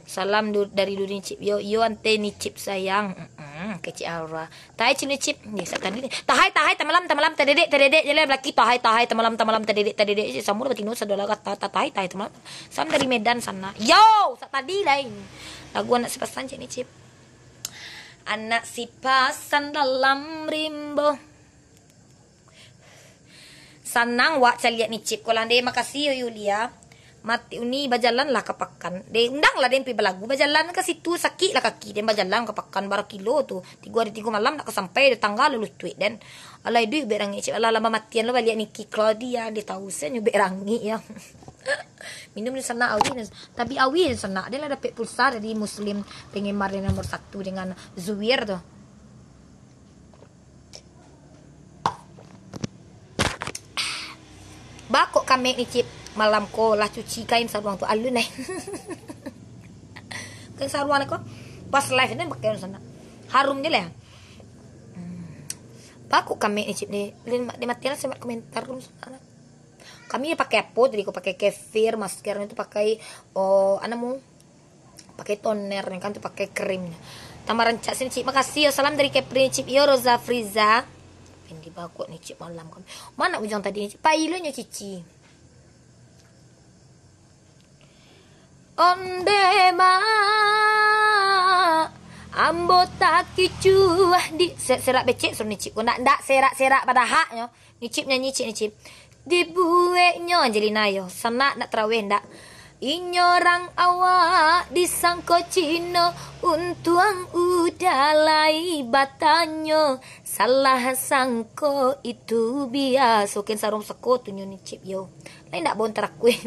Salam du-, dari Duri Nicip. Yo, yo, Ante Nicip sayang. Mm-mm, kecik Aura. Tahai Cip Nicip. Ni, sak tadi ni. Tahai, tahai, tamalam, tamalam, tadedek, tadedek. Jalan laki, tahai, tahai, tamalam, tamalam, tadedek, tadedek. Samo lah batino, sadolah kata, ta-, tahai, tahai, tamalam. Salam dari Medan sana. Yo, sak tadi lain. Lagu anak sipasan, Cik Nicip. Anak sipasan dalam rimbo. Sanang wak caliak Nicip ko lah, deh. Makasih, yo, Yulia. Mati uni, bajalan lah ka pakan. Deh, undang lah, deh, pi balagu. Bajalan ka situ, sakik lah kaki, deh, bajalan ka pakan, bara kilo tu. Tigo hari, tigo malam, nak ka sampai, deh, tangga lalu tuik, den. Alai, duit ubek rangik, Cip. Alah, lama matian lo baliak Niki Claudia, deh, tahu, sen ubek rangik, ya. Minum ni sanak, awi ni. Tapi awi ni sanak, dia lah dapek pulsa dari Muslim penggemar yang nomor satu dengan Zuir tu. Bakok kamek Nicip, malam ko lah cuci kain saruang tu, alun eh. Kain saruang ko pas live ni pakai sanak. Harum je lah. Hmm. Bakok kamek Nicip ni, dia mati lah semak komentar tu sanak. Kami pakai apo tadi ko, pakai kefir, masker tu pakai, oh, anu mu. Pakai toner ni kan tu, pakai krim ni. Tambah rancak sini, Cip. Makasih yo, salam dari Kepri, Cip. Yo, Roza Friza. Pendi bagot ni, Cip, malam kan. Mana ujang tadi ni, Cip? Pai lo nyo, Cici. Onde ma, ambo takicuah di se-, serak becek suruh ni, Cip. Ko ndak, ndak serak-serak padahaknyo. Nicip nyanyi, Cik Nicip. Dibueknyo Angelina yo, sanak nak taraweh ndak? Inyo rang awak disangko Cino, untuang udah lai batanyo, salah sangko itu biaso. Ken sarung sako tu nyo Nicip yo. Lai ndak bau tarakuih.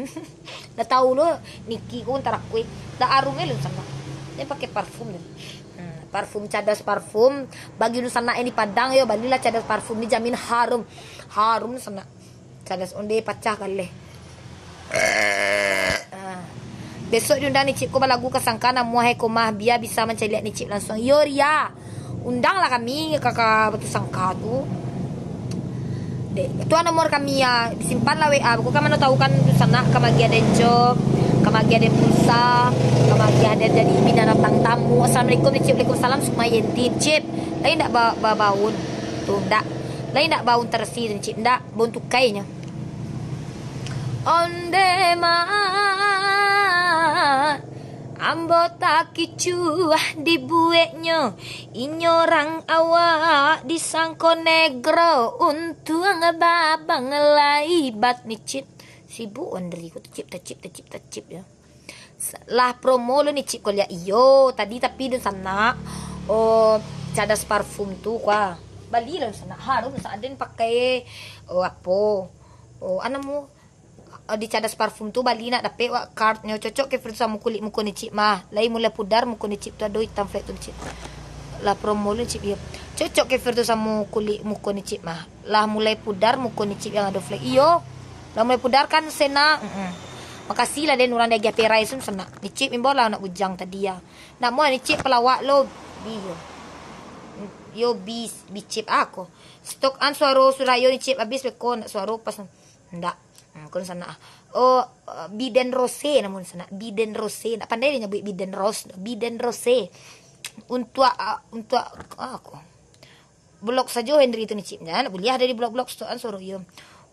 Dah tahu lo Niki ko tarakuih. Dah arum lo sanak. Dia pakai parfum tadi. Hmm, parfum Cadas Parfum. Bagi nu sanak yang di Padang yo, balilah Cadas Parfum, dijamin harum. Harum sanak. Cadas onde pacah kaleh. Ah. Besok diundang Nicip ko balagu ka sangka namuah hai komah, bia bisa mancaliak Nicip langsung. Iyo, Ria. Undanglah kami ka, ka Batu Sangka tu. Dek, tu nomor kami ya, disimpan lah W A. Bukan mano tahu kan, tu sanak ka magiah den job, ka magiah den pulsa, ka magiah den jadi binatang tamu. Assalamualaikum, Nicip. Waalaikumsalam, Sukma Yenti. Cip, lai ndak ba-, ba-, baun. Tu ndak. Lai ndak baun terasi, Cip. Ndak, baun tukai nyo. Onde ma, ambo takicuah dibueknyo. Inyo rang awak disangko negro, untuang babang lai bat Nicip. Sibuk Andri ko, tacip, tacip, tacip, tacip yo. Lah promo lo Nicip ko liak. Iyo, tadi tapi dun sanak. Oh, Cadas Parfum tu kuah. Bali lo sanak. Harum sanak den pakai. Oh, apo? Oh, anu mu. Eh, di Cadas Parfum tu bali nak dapek wak cardnyo, cocok kefir tu samo kulik muko Nicip mah. Lai mulai pudar muko Nicip tu, ado itam flek tu Nicip. Lah promo lo Nicip yo. Cocok kefir tu samo kulik muko Nicip mah. Lah mulai pudar muko Nicip yang ado flek. Iyo. Lah mulai pudar kan sanak. Mm-mm. Makasih lah den urang diagiah perai sun sanak. Nicip imbau lah anak bujang tadi ya. Nak mau Nicip pelawak lo. Bi yo. Yo bi, bicip ako. Stok an suaro surayo Nicip abih beko nak suaro pas. Ndak. Hmm, kun sanak ah. Oh, eh, Biden Rose namun sanak. Biden Rose. Ndak pandai dia nyabuik Biden Rose. Biden Rose. Untuak, ah, untuak, ah, ako. Blok sajo Henry tu Nicip, jan buliah dari blok-blok stoan suaro iyo.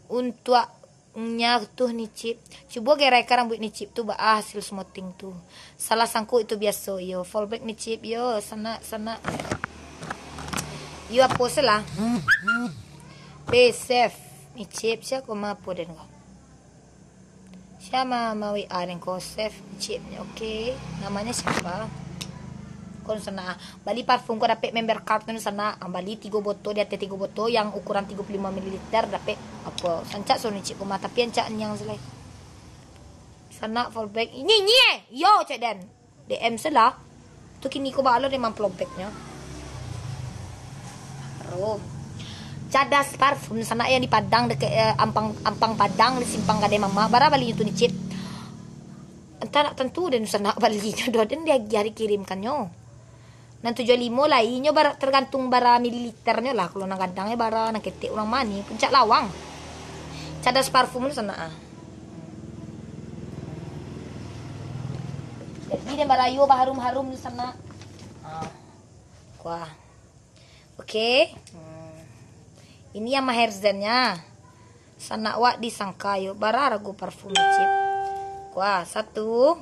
Untuak nya tu Nicip, cubo gerai ka rambuik Nicip tu baa hasil smoothing tu. Salah sangkuik tu biaso iyo. Fallback Nicip iyo, sanak, sanak. Iyo apo se lah. Be safe Nicip, sia koma apo den ko. Sia ma, ma W A den ko, save Nicip. Oke, namanya siapa? Kon sanak ah. Bali parfum ko dapek member card tu sanak. Ah, bali tigo botol, di ateh tigo botol yang ukuran tigo puluh lima mililiter dapek apo? Sancak suaro Nicip ko mah, tapi ancak niang se lai. Sanak fallback. Ini, ini eh. Yo, cek den. D M se lah. Tu kini ko baa lo dek mamplompeknyo. Harum. Cadas Parfum sanak yang di Padang deket, eh, Ampang, Ampang Padang di Simpang Gadai Mamak. Bara balinyo tu Nicip? Antah nak tantu den sanak balinyo doh, den diagiah dikirimkannyo. Nan tujuah limo lai, inyo bara, tergantung bara mililiternyo lah. Kalau nan gadang e bara, nan ketek urang mani, Puncak Lawang. Cadas Parfum tu sanak ah. Jadi den barayo baharum-harum di sanak. Ah. Kuah. Oke. Hmm. Ini yang Maherzen-nya. Sanak wak disangka yo, bara rago parfum Nicip. Kuah, satu.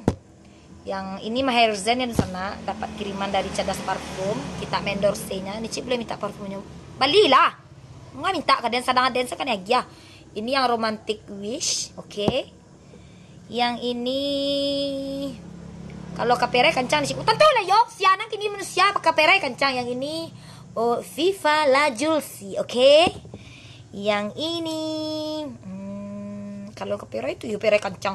Yang ini Maherzen yang sanak, dapat kiriman dari Cadas Parfum. Kita mendorse-nya. Nicip boleh minta parfumnyo. Balilah. Nggak minta ka den, sadang aden sakali agiah. Ini yang Romantic Wish. Oke. Yang ini, kalau kaperai kancang di siko. Tantu lah yo, sia nan kini manusia kaperai kancang. Yang ini, oh, Viva La Juicy, oke. Yang ini, hmm, kalau kaperai tu yo perai kancang.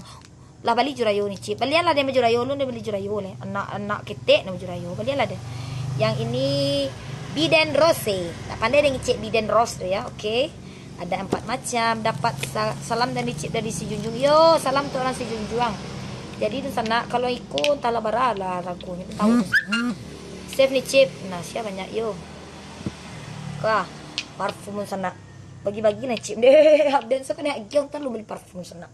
Lah bali jo rayo Nicip. Balian lah den baju rayo, lu den bali jo rayo leh. Anak, anak ketek den baju rayo. Balian lah den. Yang ini Biden Rose. Tak pandai den ngecek Biden Rose tu ya, oke. Ada empat macam. Dapat sa-, salam dari Cik, dari Sijunjung. Yo, salam tu orang Sijunjung. Jadi tu sanak, kalau iko entahlah bara lah ragonyo, tahu. Save Nicip. Nah, sia banyak yo. Kah, parfum sanak. Bagi-bagi lah Cip. Deh, abden sakali agiah, ntar lu beli parfum sanak.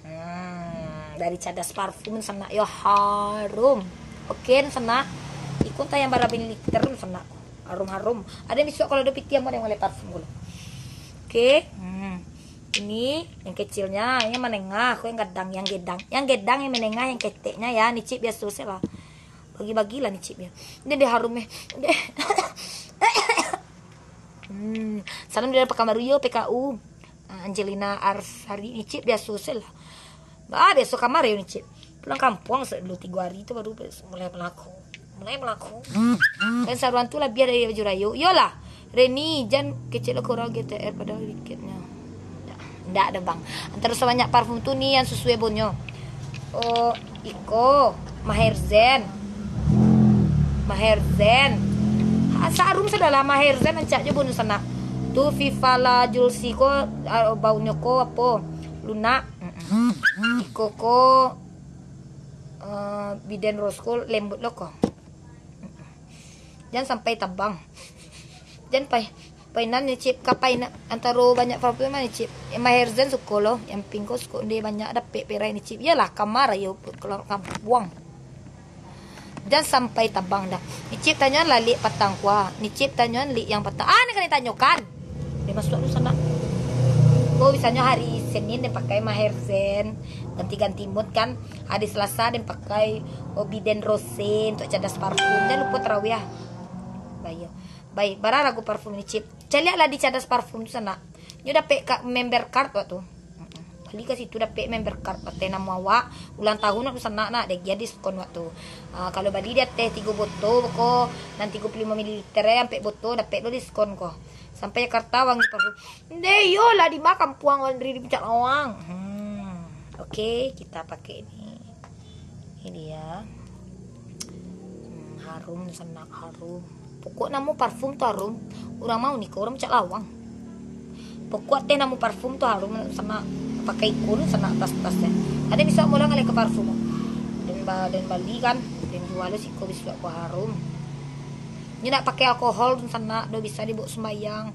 Hmm, dari Cadas Parfum sanak yo, harum. Oke sanak. Iko entah yang bara mililiter sanak. Harum-harum. Ada bisuak kalau ada piti yang mau yang mulai parfum dulu. Oke. Hmm. Ini yang kecilnya, yang menengah, yang gadang, yang gedang. Yang gedang yang menengah, yang keteknya ya, Nicip biaso se lah. Bagi-bagilah Nicip ya. Ini dia harum eh. Hmm. Salam dari Pekanbaru yo, P K U. Ah, Angelina Arsari, Nicip biaso se lah. Ah, biaso kamar yo Nicip. Pulang kampuang se dulu tigo hari tu baru mulai melaku. Mulai melaku. Kan saruan tu labiah dari baju rayo. Iyolah. Reni, jan kecek lo kurang G T R padahal dikitnya. Ndak, ndak ada bang. Antara sabanyak parfum tu ni yang sesuai bonyo. Oh, iko, Maherzen. Maherzen. Ha, sarum sadalah Maherzen ancak jo bonyo sanak. Tu Viva La Juicy ko, ah, baunyo ko apo? Lunak. Mm-mm. Iko ko, eh, Biden Rose ko lembut lo ko. Jan sampai tabang. Jan pai, painan Nicip, ka painan antaro banyak parfum Nicip. Maherzen suko lo, yang pink ko suko, nde banyak dapek perai Nicip. Iyolah, kamar ayo keluar kampuang. Jan sampai tabang dah. Nicip tanyoan lah lik patang kuah. Nicip tanyoan lik yang patang. Ah, ni kan ditanyokan. Dia masuk dulu sanak. Oh, misalnya hari Senin dia pakai Maherzen, ganti-ganti mood kan. Hari Selasa dia pakai Obiden Rose untuk Cadas Parfum. Jangan lupa tarawih ah. Baik. Baik, bara ragu parfum Nicip. Caliak lah di Cadas Parfum tu sanak. Nyo dapek ka member card waktu. Bali ka situ dapek member card, ateh namo awak, ulang tahun nak sanak nak, dek dia diskon waktu. Ah, kalau bali di ateh tigo botol ko, nan tigo puluh limo mililiter eh, ampek botol dapek lo diskon ko. Sampai Jakarta wangi parfum. Nde, iyolah, di ma kampuang Andri di Puncak Lawang. Hmm. Oke, kita pakai ini. Ini dia. Hmm, harum, sanak, harum. Pokok namo parfum tu harum. Urang mau niko, urang Puncak Lawang. Pokok teh namo parfum tu harum, sanak, pakai ikun, sanak, tas-tas teh. Ada bisa mula ngalih ke parfum. Dan ba-, dan bali kan, dan jual siko bisa ko harum. Ini nak pakai alkohol tu sanak, do bisa dibawa sembayang.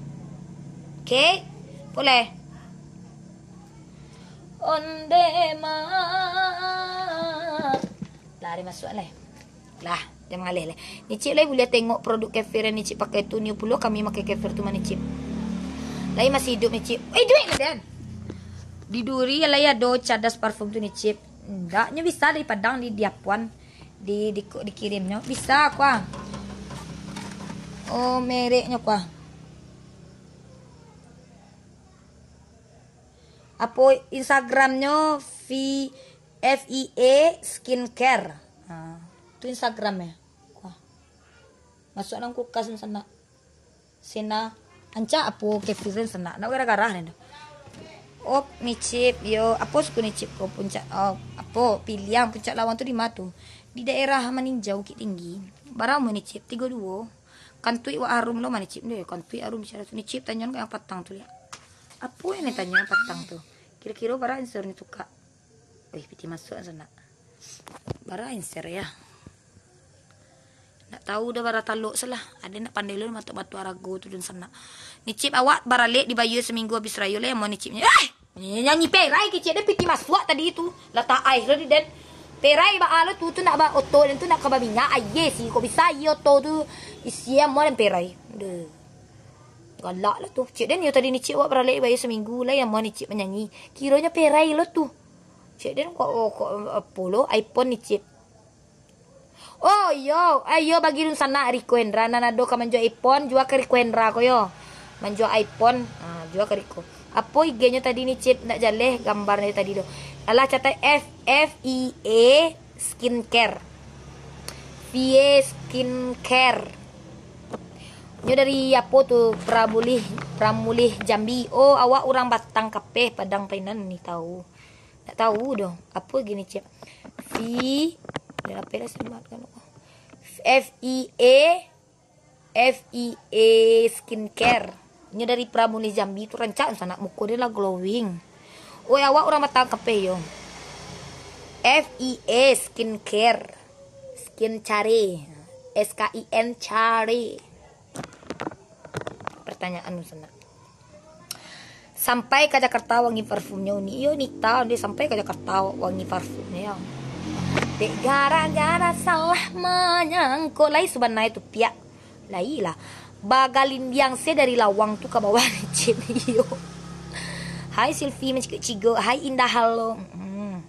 Oke? Boleh. Onde ma. Lah, dia masuk lah. Lah. Jan mangaleh lai. Nicip lai buliah tengok produk Kefir yang Nicip pakai tu, nio pulo kami makai Kefir tu mah Nicip. Lai masih iduik Nicip. Eh, iduik lah, Den. Di Duri lai ado Cadas parfum tu Nicip. Ndak, nyo bisa dari Padang di, di Apuan. Di, di, dikirimnyo. Bisa, kuah. Oh, mereknyo, kuah. Apo Instagramnyo? F I A Skincare. Ha, tu Instagram ya. Wah. Masuk dalam kulkas ni sanak. Sena ancak apo Kefir sanak. Nak garah-garah ni dah. Oh, Nicip, yo, apo suku Nicip ko puncak, oh, apo Piliang, Puncak Lawang tu di ma tu? Di daerah Maninjau, Bukittinggi. Bara umua Nicip? Tigo duo. Kantuik wak harum lo mah Nicip deh. Kantuik harum bicara tu. Nicip, tanyoan ka yang patang tu liak. Apo yang tanyo yang patang tu? Kiro-kiro bara answer ni tu, Kak? Wih, piti masuk sanak. Bara answer ya. Nak tahu dah bara talok salah. Ada nak pandai lo matok batu arago tu dan sanak. Nicip, awak baralek dibayar seminggu habis rayo lah yang mau Nicipnya. Eh! Nyanyi perai kecek dia piti masuak tadi tu. Lah tak aih lo di den. Perai ba alo tu, tu nak ba oto den tu nak ka baminyak. Aye sih, kok bisa aye oto tu isi amuah dan perai. Deh. Galak lah tu. Cek den yo tadi Nicip awak baralek bayo seminggu lah yang amuah Nicip manyanyi. Kironyo perai lo tu. Cek den kok, oh, kok apo lo iPhone Nicip. Oh, iyo. Eh, iyo, bagi dunsanak Riko Hendra. Nan ado ka manjua iPhone, jua ka Riko Hendra ko yo. Manjua iPhone, ha, jua ka Riko. Apo I G-nyo tadi Nicip, nak jaleh gambarnyo tadi tu. Alah, catat F, F I A Skincare. F I A Skincare. Nyo dari apo tu? Pramulih, Pramulih Jambi. Oh, awak urang Batang Kapeh, Padang Painan ni tahu. Ndak tahu doh. Apo gini, Cik? Fi-, dah lapeh lah, selamat kan. F I A, F I A Skincare. Nyo dari Pramulih Jambi tu, rancak sanak, muko dia lah glowing. Oi, awak urang Batang Kapeh yo. F I A Skincare. Skin Care. S K I N Care. Pertanyaan sanak. Sampai ka Jakarta wangi parfumnyo ni. Iyo, Nita, dia sampai ka Jakarta wangi parfumnyo, yo. Dek gara-gara salah manyangko. Lai subanai tu, piak. Lai lah. Bagalindiang se dari lawang tu ka bawah, Cik. Iyo. Hai Silvi, mencigok-cigok. Hai Indah, halo. Mm-mm.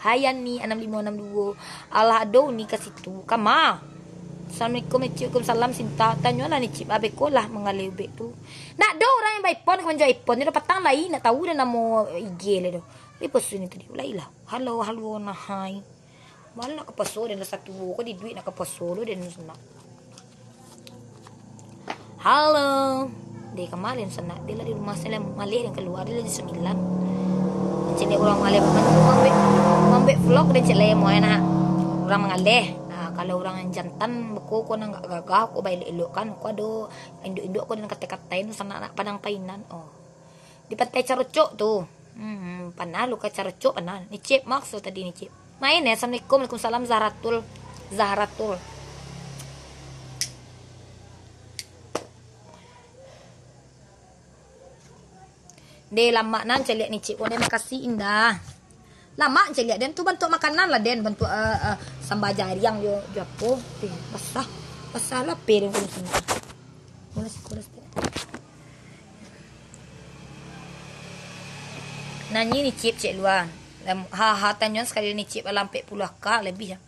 Hai Yani anam limo anam duo. Alah, ado Uni ka situ. Kama? Assalamualaikum, Ecik. Waalaikumsalam, Sinta. Tanyolah ni, Cik. Abeko lah mangaleh ubek tu. Nak do urang yang ba-iPhone ka manjual iPhone. Nyo dah patang lai, nak tahu dah namo I G lah doh. Tapi post ni tadi. Ulai lah. Halo, halo, nah, hai. Malah nak ka poso dan dah satu ko di duit nak ka poso lo dan nak. Halo. Deh, kama den sanak? Dia lah di rumah, saya maleh dan keluar, dia lah jam sembilan. Cek dek urang maleh, mambuek, mambuek vlog dan cek lemo enak. Urang mangaleh. Nah, kalau urang yang jantan, beko ko nang gak gagah, ko baelok-elok kan, ko ado induk-induk ko dan katai-katai tu sanak nak Padang Painan. Oh. Di Pantai Carocok tu. Hmm, panah lu ka Carocok, panah. Ni Cip, makso tadi ni Cip. Main ya, Assalamualaikum, Waalaikumsalam, Zahratul. Zahratul. Deh, lamak nan caliak ni, Cik. Oh, deh, makasih, Indah. Lamak caliak den tu bantuak makanan lah, den. Bantuak, eh, eh, samba jariang jo, jo apo. Deh, basah. Basah lah, pe, den, kuno sana. Kuno siko, kuno siko. Nanyi ni, Cip, cek lua. Lam-, ha, ha, tanyoan sakali ni, Cip, alah ampek puluah K lebih, ya.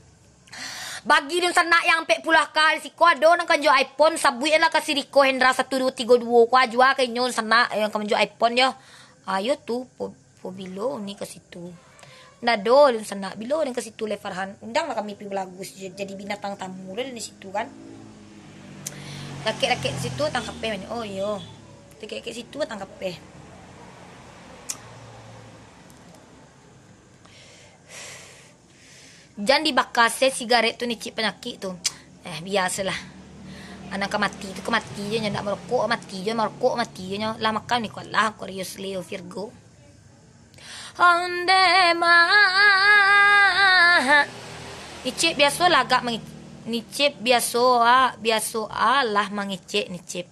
Bagi dunsanak yang ampek puluah K, siko ado nan ka manjual iPhone, sabuik lah ka si Riko Hendra satu duo tigo duo, ko jua ka inyo dunsanak yang ka manjual iPhone yo. Ayo tu, po-, po bilo ni ka situ. Ndak ado dunsanak, bilo ni ka situ le Farhan. Undang lah kami pi balagu, jadi binatang tamu lah di situ kan. Rakek-rakek situ tangkapeh mani. Oh iyo. Rakek-rakek situ tangkapeh. Jan dibaka se sigaret tu, ni Cik, panyakik tu. Eh, biasolah. Anak ka mati tu ka mati je nyo, ndak marokok mati je, marokok mati je nyo. Lah makan ni kuat lah, Aquarius, Leo, Virgo. Onde mah. Ni Cip biasolah agak mangi-, ni Cip biaso, ah, biaso alah mangecek ni Cip.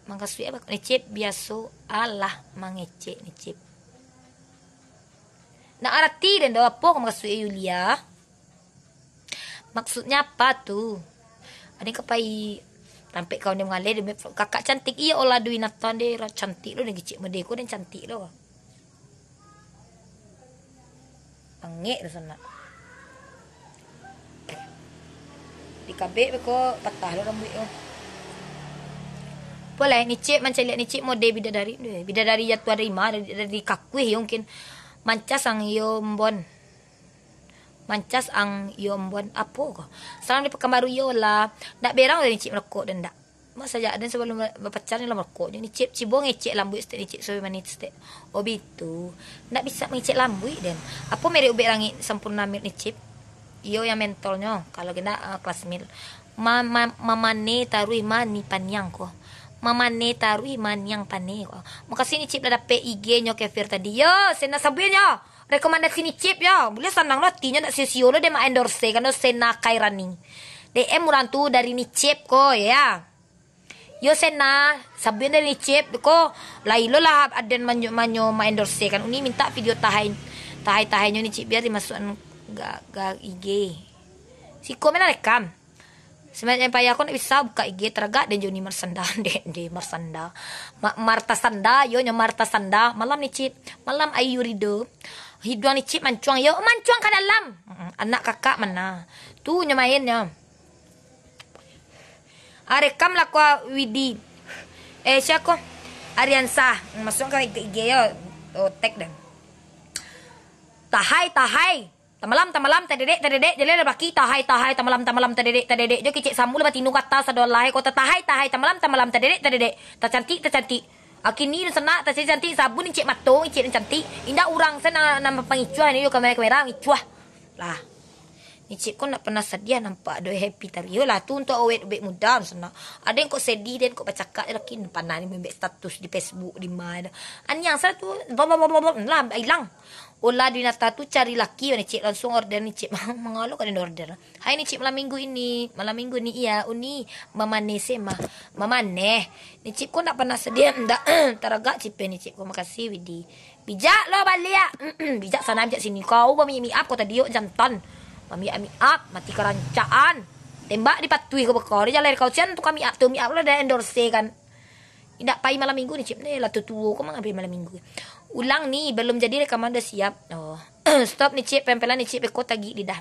Makasuik apo? Ni Cip biaso alah mangecek ni Cip. Nak arati den do apo makasuik Yulia? Maksudnya apa tu? Ade ka pai tampek kawan dia mangaleh, dia, kakak cantik, iyo lah Dwi Nathan deh, cantik lo, dia kicik mode ko, dia cantik lo. Angek tu sanak. Di kabek beko patah lo rambuik tu. Boleh, Nicip mancaliak Nicip mode bidadari, bidadari jatuah dari ma, dari, dari kakuih yo mungkin. Mancas ang iyo mbon. Mancas ang iyo mbon. Apo ko? Salam di Pekanbaru yo lah. Ndak berang dari Nicip merokok dan ndak. Mak sajak den sabalum ba-, bapacar ni lah merokok. Ni Cip, cibo ngecek lambuik stek ni Cip, sobe manis stek. Oh bitu. Ndak bisa mangecek lambuik den. Apo merek ubek langik Sampoerna Milk ni Cip? Iyo yang mentolnyo. Kalau kena uh, kelas mil. Ma, ma, mamane taruih mani paniang ko. Mamane taruih maniang pane ko. Makasih ni Cip lah dapek I G nyo Kefir tadi. Yo, sena sabuinnyo. Rekomendasi ni Cip yo. Buliah sanang lo atinyo ndak sio-sio lo dia ma-endorse kan lo Sena Kairani. D M urang tu dari ni Cip ko ya. Yo Sena, sabuian dari Nicip ko, lai lo lah aden manyo, manyo ma-endorse kan. Uni minta video tahai, tahai-tahainyo Nicip biar dimasuakan ga, ga I G. Siko mena rekam. Sebenarnya payah ko nak bisa buka I G, taragak den jo Uni Marsanda. Dek, dek Marsanda. Ma, Marta Sanda, yo nyo Marta Sanda. Malam Nicip, malam Ayu Rido. Hiduang Nicip mancuang, yo mancuang ka dalam. Mm-mm, anak kakak mana? Tu nyo main nyo. Ah, rekam lah ko Widi. Eh, sia ko? Ariansa. Masuak ka I G yo. Oh, tag den. Tahai, tahai. Tamalam, tamalam, tadedek, tadedek. Jaleh lah baki. Tahai, tahai. Tamalam, tamalam, tadedek, tadedek. Jo kicik sambu lah batinu kata sadolah. Kota tahai, tahai. Tamalam, tamalam, tadedek, tadedek. Tacantik, tacantik. Akini sanak, tacantik. Sabun icik mato, icik cantik. Indak urang sana nan pangicuah ni yo kamera-kamera ngicuah. Lah. Nicip ko ndak pernah sadiah nampak do happy tari. Yo lah tu untuk awet ubek muda sana. Ado yang kok sedih den kok bacakak je laki panah ni membek status di Facebook di mana. Aniang sana tu bla bla bla bla bla, lah hilang. Olah Dinata tu cari laki Nicip langsung order Nicip. Mangalo ka den order. Hai Nicip malam minggu ini. Malam minggu ni iya Uni mamaneh se mah. Mamaneh. Nicip ko ndak pernah sadiah ndak taragak cipe Nicip ko makasih Widi. Bijak lo baliak. Bijak sana, bijak sini. Kau bamiak-miak ko tadi yo jantan. Bamiak-miak, mati karancaan. Tembak dipatuih ko beko. Di jalai kau sian tu kami up tu, miak lo dah endorse kan. Indak pai malam minggu ni, Cip. Ni lah tuo-tuo ko mangabih malam minggu. Ulang ni, belum jadi rekaman dah siap. Oh. Stop ni, Cip. Pempelan ni, Cip. Beko tagik lidah.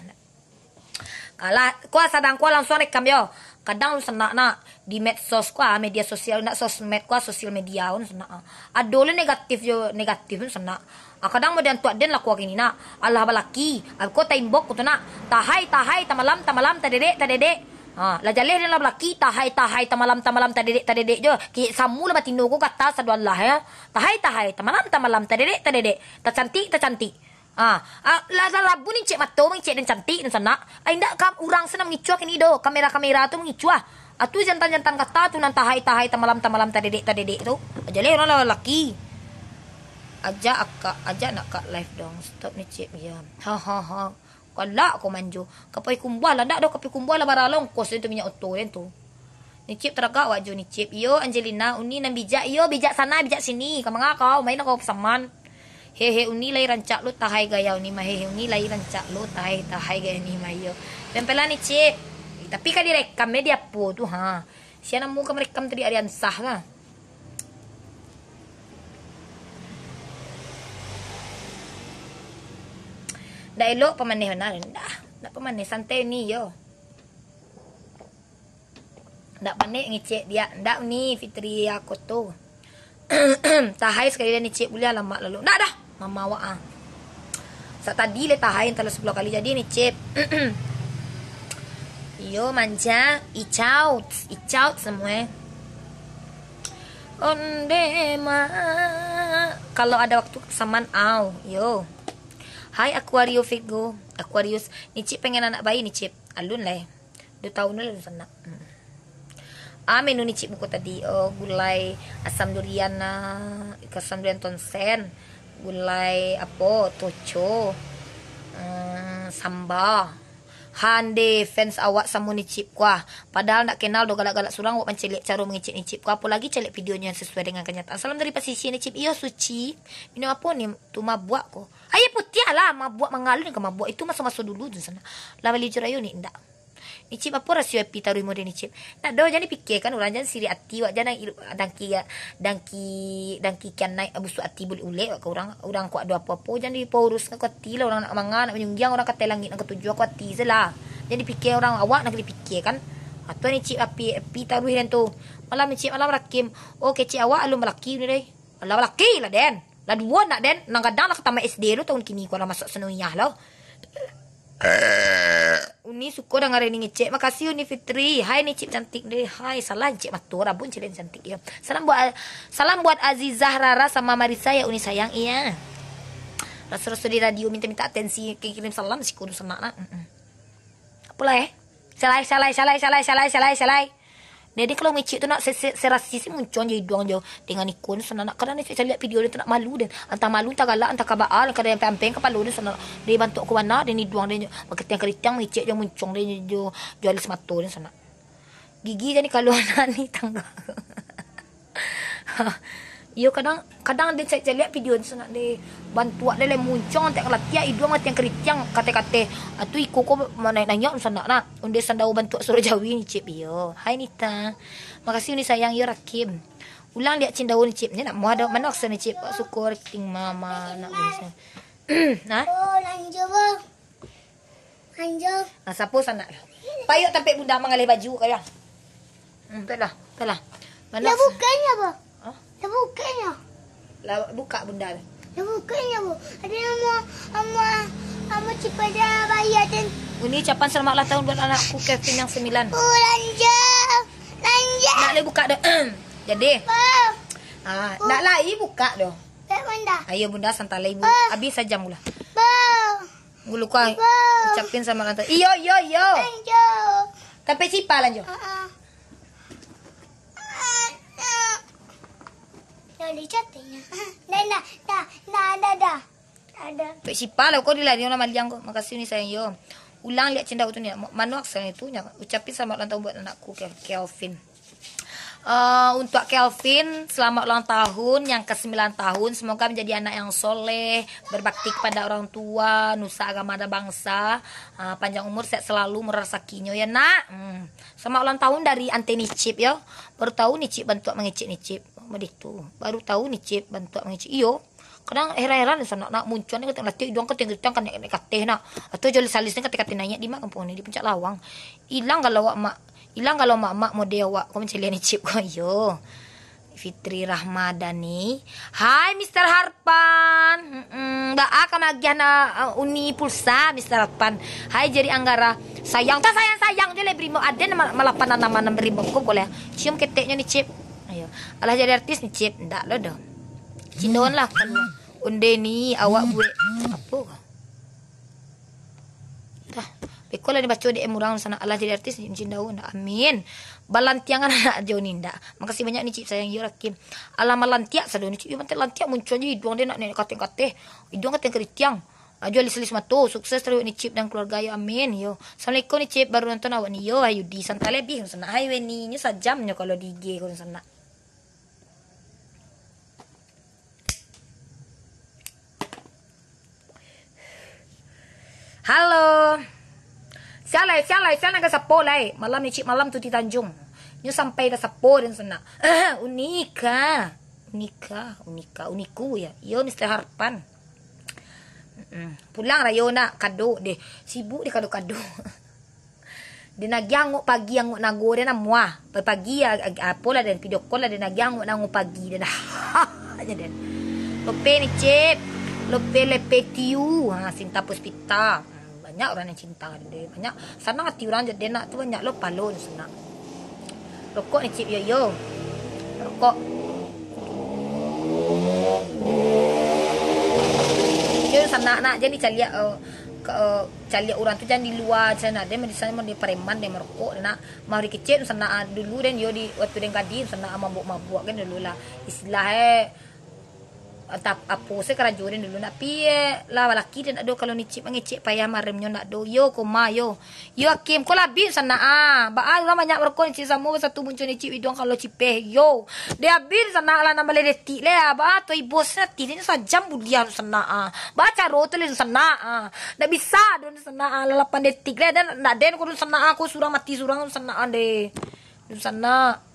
Alah, kua sadang kua langsung rekam yo. Kadang lu senak nak di medsos kua, media sosial, nak sosmed kua, sosial media pun senak. Ado le negatif yo, negatif pun senak. Ah, kadang model tuak den lah kua kini nak. Alah balaki, ah, kua taimbok ku tu nak. Tahai, tahai, tamalam, tamalam, tadedek, tadedek. Ha, lah jaleh den lah balaki, tahai, tahai, tamalam, tamalam, tadedek, tadedek jo. Kiyek samu lah batino ku kata saduan lah ya. Tahai, tahai, tamalam, tamalam, tadedek, tadedek. Tacantik, tacantik. Ah, ah, lah, lah, labu ni cek mato, cek den cantik, den sanak. Ah, indak kam, urang se nan mangicuah kini do. Kamera-kamera tu mangicuah. Ah, tu jantan-jantan kata tu nan tahai-tahai, tamalam-tamalam, tadedek-tadedek tu. Aja leh urang lah laki. Ajak akak, ajak nak kak live dong. Stop ni cek, ya. Ha, ha, ha. Galak ko manjo. Kapai kumbuah lah, ndak doh kapai kumbuah lah baralong kos den tu minyak oto den tu. Nicip taragak awak jo Nicip. Iyo, Angelina, Uni nan bijak. Iyo, bijak sana, bijak sini. Ka manga kau, main kau saman. Hehe, Uni lai rancak lo, tahai gaya Uni mah. Hehe, Uni lai rancak lo, tahai, tahai gaya Uni mah, iyo. Pempelan Nicip. Tapi ka direkam, eh, di apo tu, ha. Sia namo ka merekam tadi, Ariansah lah. Ndak elok pamaneh bana. Ndak, ndak pamaneh, santai Uni, yo. Ndak panek ngecek diak. Ndak ni, Fitri Akoto. Tahai sakali lah ngecek, buliah lamak lalu. Ndak dah, mama awak ah. Sak tadi le tahai, entah lah sepuluh kali jadi ngecek. Iyo, manja, icaut, icaut semua. Onde ma. Kalau ada waktu saman au, yo. Hai Aquario Virgo, Aquarius, Nicip pengen anak bayi Nicip. Alun lah. Duo tahun lah sanak. Hmm. Ah, menu Nicip muko tadi, oh, gulai asam durian, ah, asam durian tonsen, gulai apo, toco, hmm, samba. Hande fans awak samo Nicip kuah. Padahal ndak kenal do galak-galak surang awak mancaliak caro mangecek Nicip kuah. Apo lagi caliak videonyo yang sesuai dengan kenyataan. Salam dari pasisia Nicip. Iyo suci. Minum apo ni? Tu mabuak ko. Aia putiah lah, mabuak mangalun ka mabuak. Itu maso-maso dulu tu sanak. Lah bali jurayo ni ndak. Nicip, apo rasio happy taruih model Nicip? Ndak doh, jan dipikiakan urang, jan sirik ati wak, jan dangki, dangki, dangki kian naik, busuak ati bulek-bulek wak ka urang. Urang kok ado apo-apo, jan dipaurus ka ati lah. Urang nak manga, nak manyunggiang, urang ka ateh langik nan katujuah, ka ati se lah. Jan dipikia urang, awak nan dipikiakan. Atau Nicip happy, happy taruih den tu. Malam Nicip, malam Rakim. Oh, kecek awak alun balaki ni deh. Alah, balaki lah den. Lah duo nak den. Nan gadang lah ka tamat S D lo, tahun kini ko lah masuak sanawiyah lo. Uni suko danga ni ngecek. Makasih Uni Fitri. Hai Nicip cantik deh. Hai, salah ngecek mato, rabun cewek cantik yo. Salam buat, salam buat Azizah Rara sama Marisa ya Uni sayang. Iya. Raso-raso di radio minta-minta atensi, kirim salam siko dunsanak nak. Mm-mm. Apolah eh? Salai, salai, salai, salai, salai, salai, salai. Jadi kalau micik tu nak se-, se-, serasi si muncong je iduang jo dengan ikun sanak. Kadang ni caliak video dia tu nak malu den. Antah malu, antah galak, antah kabaa, kadang yang pempeng kapalo dia sanak. Dia bantuak kubana, dia iduang dia maketiang-keritiang micik jo muncong dia jo, jo alis mato dia sanak. Gigi jadi kalau anak ni tangga. Iyo, kadang, kadang dia caliak video tu sanak deh. Bantuak dia lai muncong, antek kalatiak, iduang matiang keritiang, kate-kate. Atu iko ko manaik-naik sanak nak. Onde sandawa bantuak surau jawi ni, Cip. Iyo. Hai Nita. Makasih Uni sayang, iyo Rakim. Ulang liak cindau ni, Cip. Ni nak muah dah. Mano aksen ni, Cip? Syukur ting mama nak bisa. Nah. Oh, lanjut, Bang. Anjo. Ah, sapo sanak? Payuak tampek bunda mangalih baju kau ya. Hmm, tak lah, tak lah. Mana? Lah bukanya apa? Hah? Lah bukanya. Lah buka bunda tu. Lah bukanya apa? Ada nama, nama, nama Cipada Bayar dan Uni ucapan selamat ulang tahun buat anakku Kevin yang sembilan. Oh, lanjut. Lanjut. Nak lai buka dah. Jadi. Bang. Ah, nak lai buka dah. Bunda. Ayo bunda santai lai bu. Bang. Habis sajam gula. Bang. Gulu kau ucapin selamat ulang tahun. Iyo, iyo, iyo. Anjo. Tapi cipa lah, Jo. Heeh. Dah dicatinyo. Dah, dah, dah, dah, dah, dah. Ada. Tapi cipa lah, kau dilari orang maliang kau. Makasih ni sayang, yo. Ulang lihat cendau tu ni. Mano aksen itu nya. Ucapin selamat ulang tahun buat anakku, Kel-, Kelvin. Eh, untuk Kelvin, selamat ulang tahun yang kesembilan tahun. Semoga menjadi anak yang soleh, berbakti kepada orang tua, nusa agama dan bangsa. Eh, panjang umur, sehat selalu, murah rezekinya ya, Nak. Hmm. Selamat ulang tahun dari Ante Nicip ya. Baru tahu Nicip bantuak mangecek Nicip. Baditu. Baru tahu Nicip bantuak mangecek. Iyo. Kadang heran-heran sanak nak muncuang ni, kata latih iduang kata gitang kan naik kateh nak. Atau joli salis ni kata-kata naik di mak kampung ni, di Puncak Lawang. Ilang kalau awak mak, ilang kalau mak-mak mode awak ko mancaliak ni Cip ko. Iyo. Fitri Rahmadani. Hai Mister Harpan. Mm-mm. Baa ka magiah na uh, uni pulsa Mister Harpan. Hai Jeri Anggara. Sayang tak sayang-sayang je le brimo. Ada nama malapan nama nama brimo ko boleh. Cium keteknya ni Cip. Ayo. Alah jadi artis ni Cip. Ndak lo doh. Cindon lah kalua. Onde ni awak buek apo ka? Dah. Beko lah dibaco D M urang sana. Alah jadi artis ni cindau ndak. Amin. Balantiangan anak jo ni ndak. Makasih banyak ni Cip sayang yo Rakim. Alah malantiak sado ni Cip. Yo mantek lantiak muncul je iduang dia nak nenek kateh-kateh. Iduang kateh keritiang. Ajo alis-alis mato. Sukses terus ni Cip dan keluarga yo. Amin yo. Assalamualaikum ni Cip. Baru nonton awak ni yo. Ayudi santai lebih sana. Hai Weni nyo sajam nyo kalau di I G ko sana. Halo. Sia lai, sia lai, sia nan ka sapo lai. Malam ni Cik Malam tu di Tanjung. Nyo sampai dah sapo dan sana. Unika. Unika, Unika, Uniku ya. Yo Mister Harpan. Mm-mm. Pulang rayo nak kado deh. Sibuk deh kado-kado. Den agiah angok pagi, angok nago den amuah. Pagi-pagi, a-, a-, apolah den, video call lah den agiah angok nago pagi den. Aja den. Lope ni, Cip. Lope lepe tiu. Ha, Sinta Puspita. Hmm, banyak urang yang cinta den. Banyak. Sanang ati urang je den nak tu banyak lo palo tu sanang. Rokok ni, Cip, yo, yo. Rokok. Yo, sanak nak, jadi caliak, eh, ke, eh, caliak urang tu jan di lua, jan ado, di sana ado preman, den marokok, nak, mari kecil, sanak, ah, dulu, den, yo, di, waktu den gadih, sanak, ah, mabuk-mabuk, kan, dulu lah. Istilah, eh, Tap-, apo se karajo den dulu nak pi, eh, lah laki den nak do kalau ngecek mangecek payah maremnyo nak do. Yo, koma, yo. Yo, Hakim, ko lah abih sanak ah. Baa urang banyak baroko ngecek samo basatu muncuang ngecek iduang kalau cipeh. Yo. Deh abih sanak lah enam baleh detik leh ah. Baa tu ibos ati den sajam buliah tu sanak ah. Baa caro tu leh sanak ah. Ndak bisa do sanak ah lah lapan detik leh. Dan ndak den ko sanak ah, ko surang mati surang sanak ah deh. Sanak.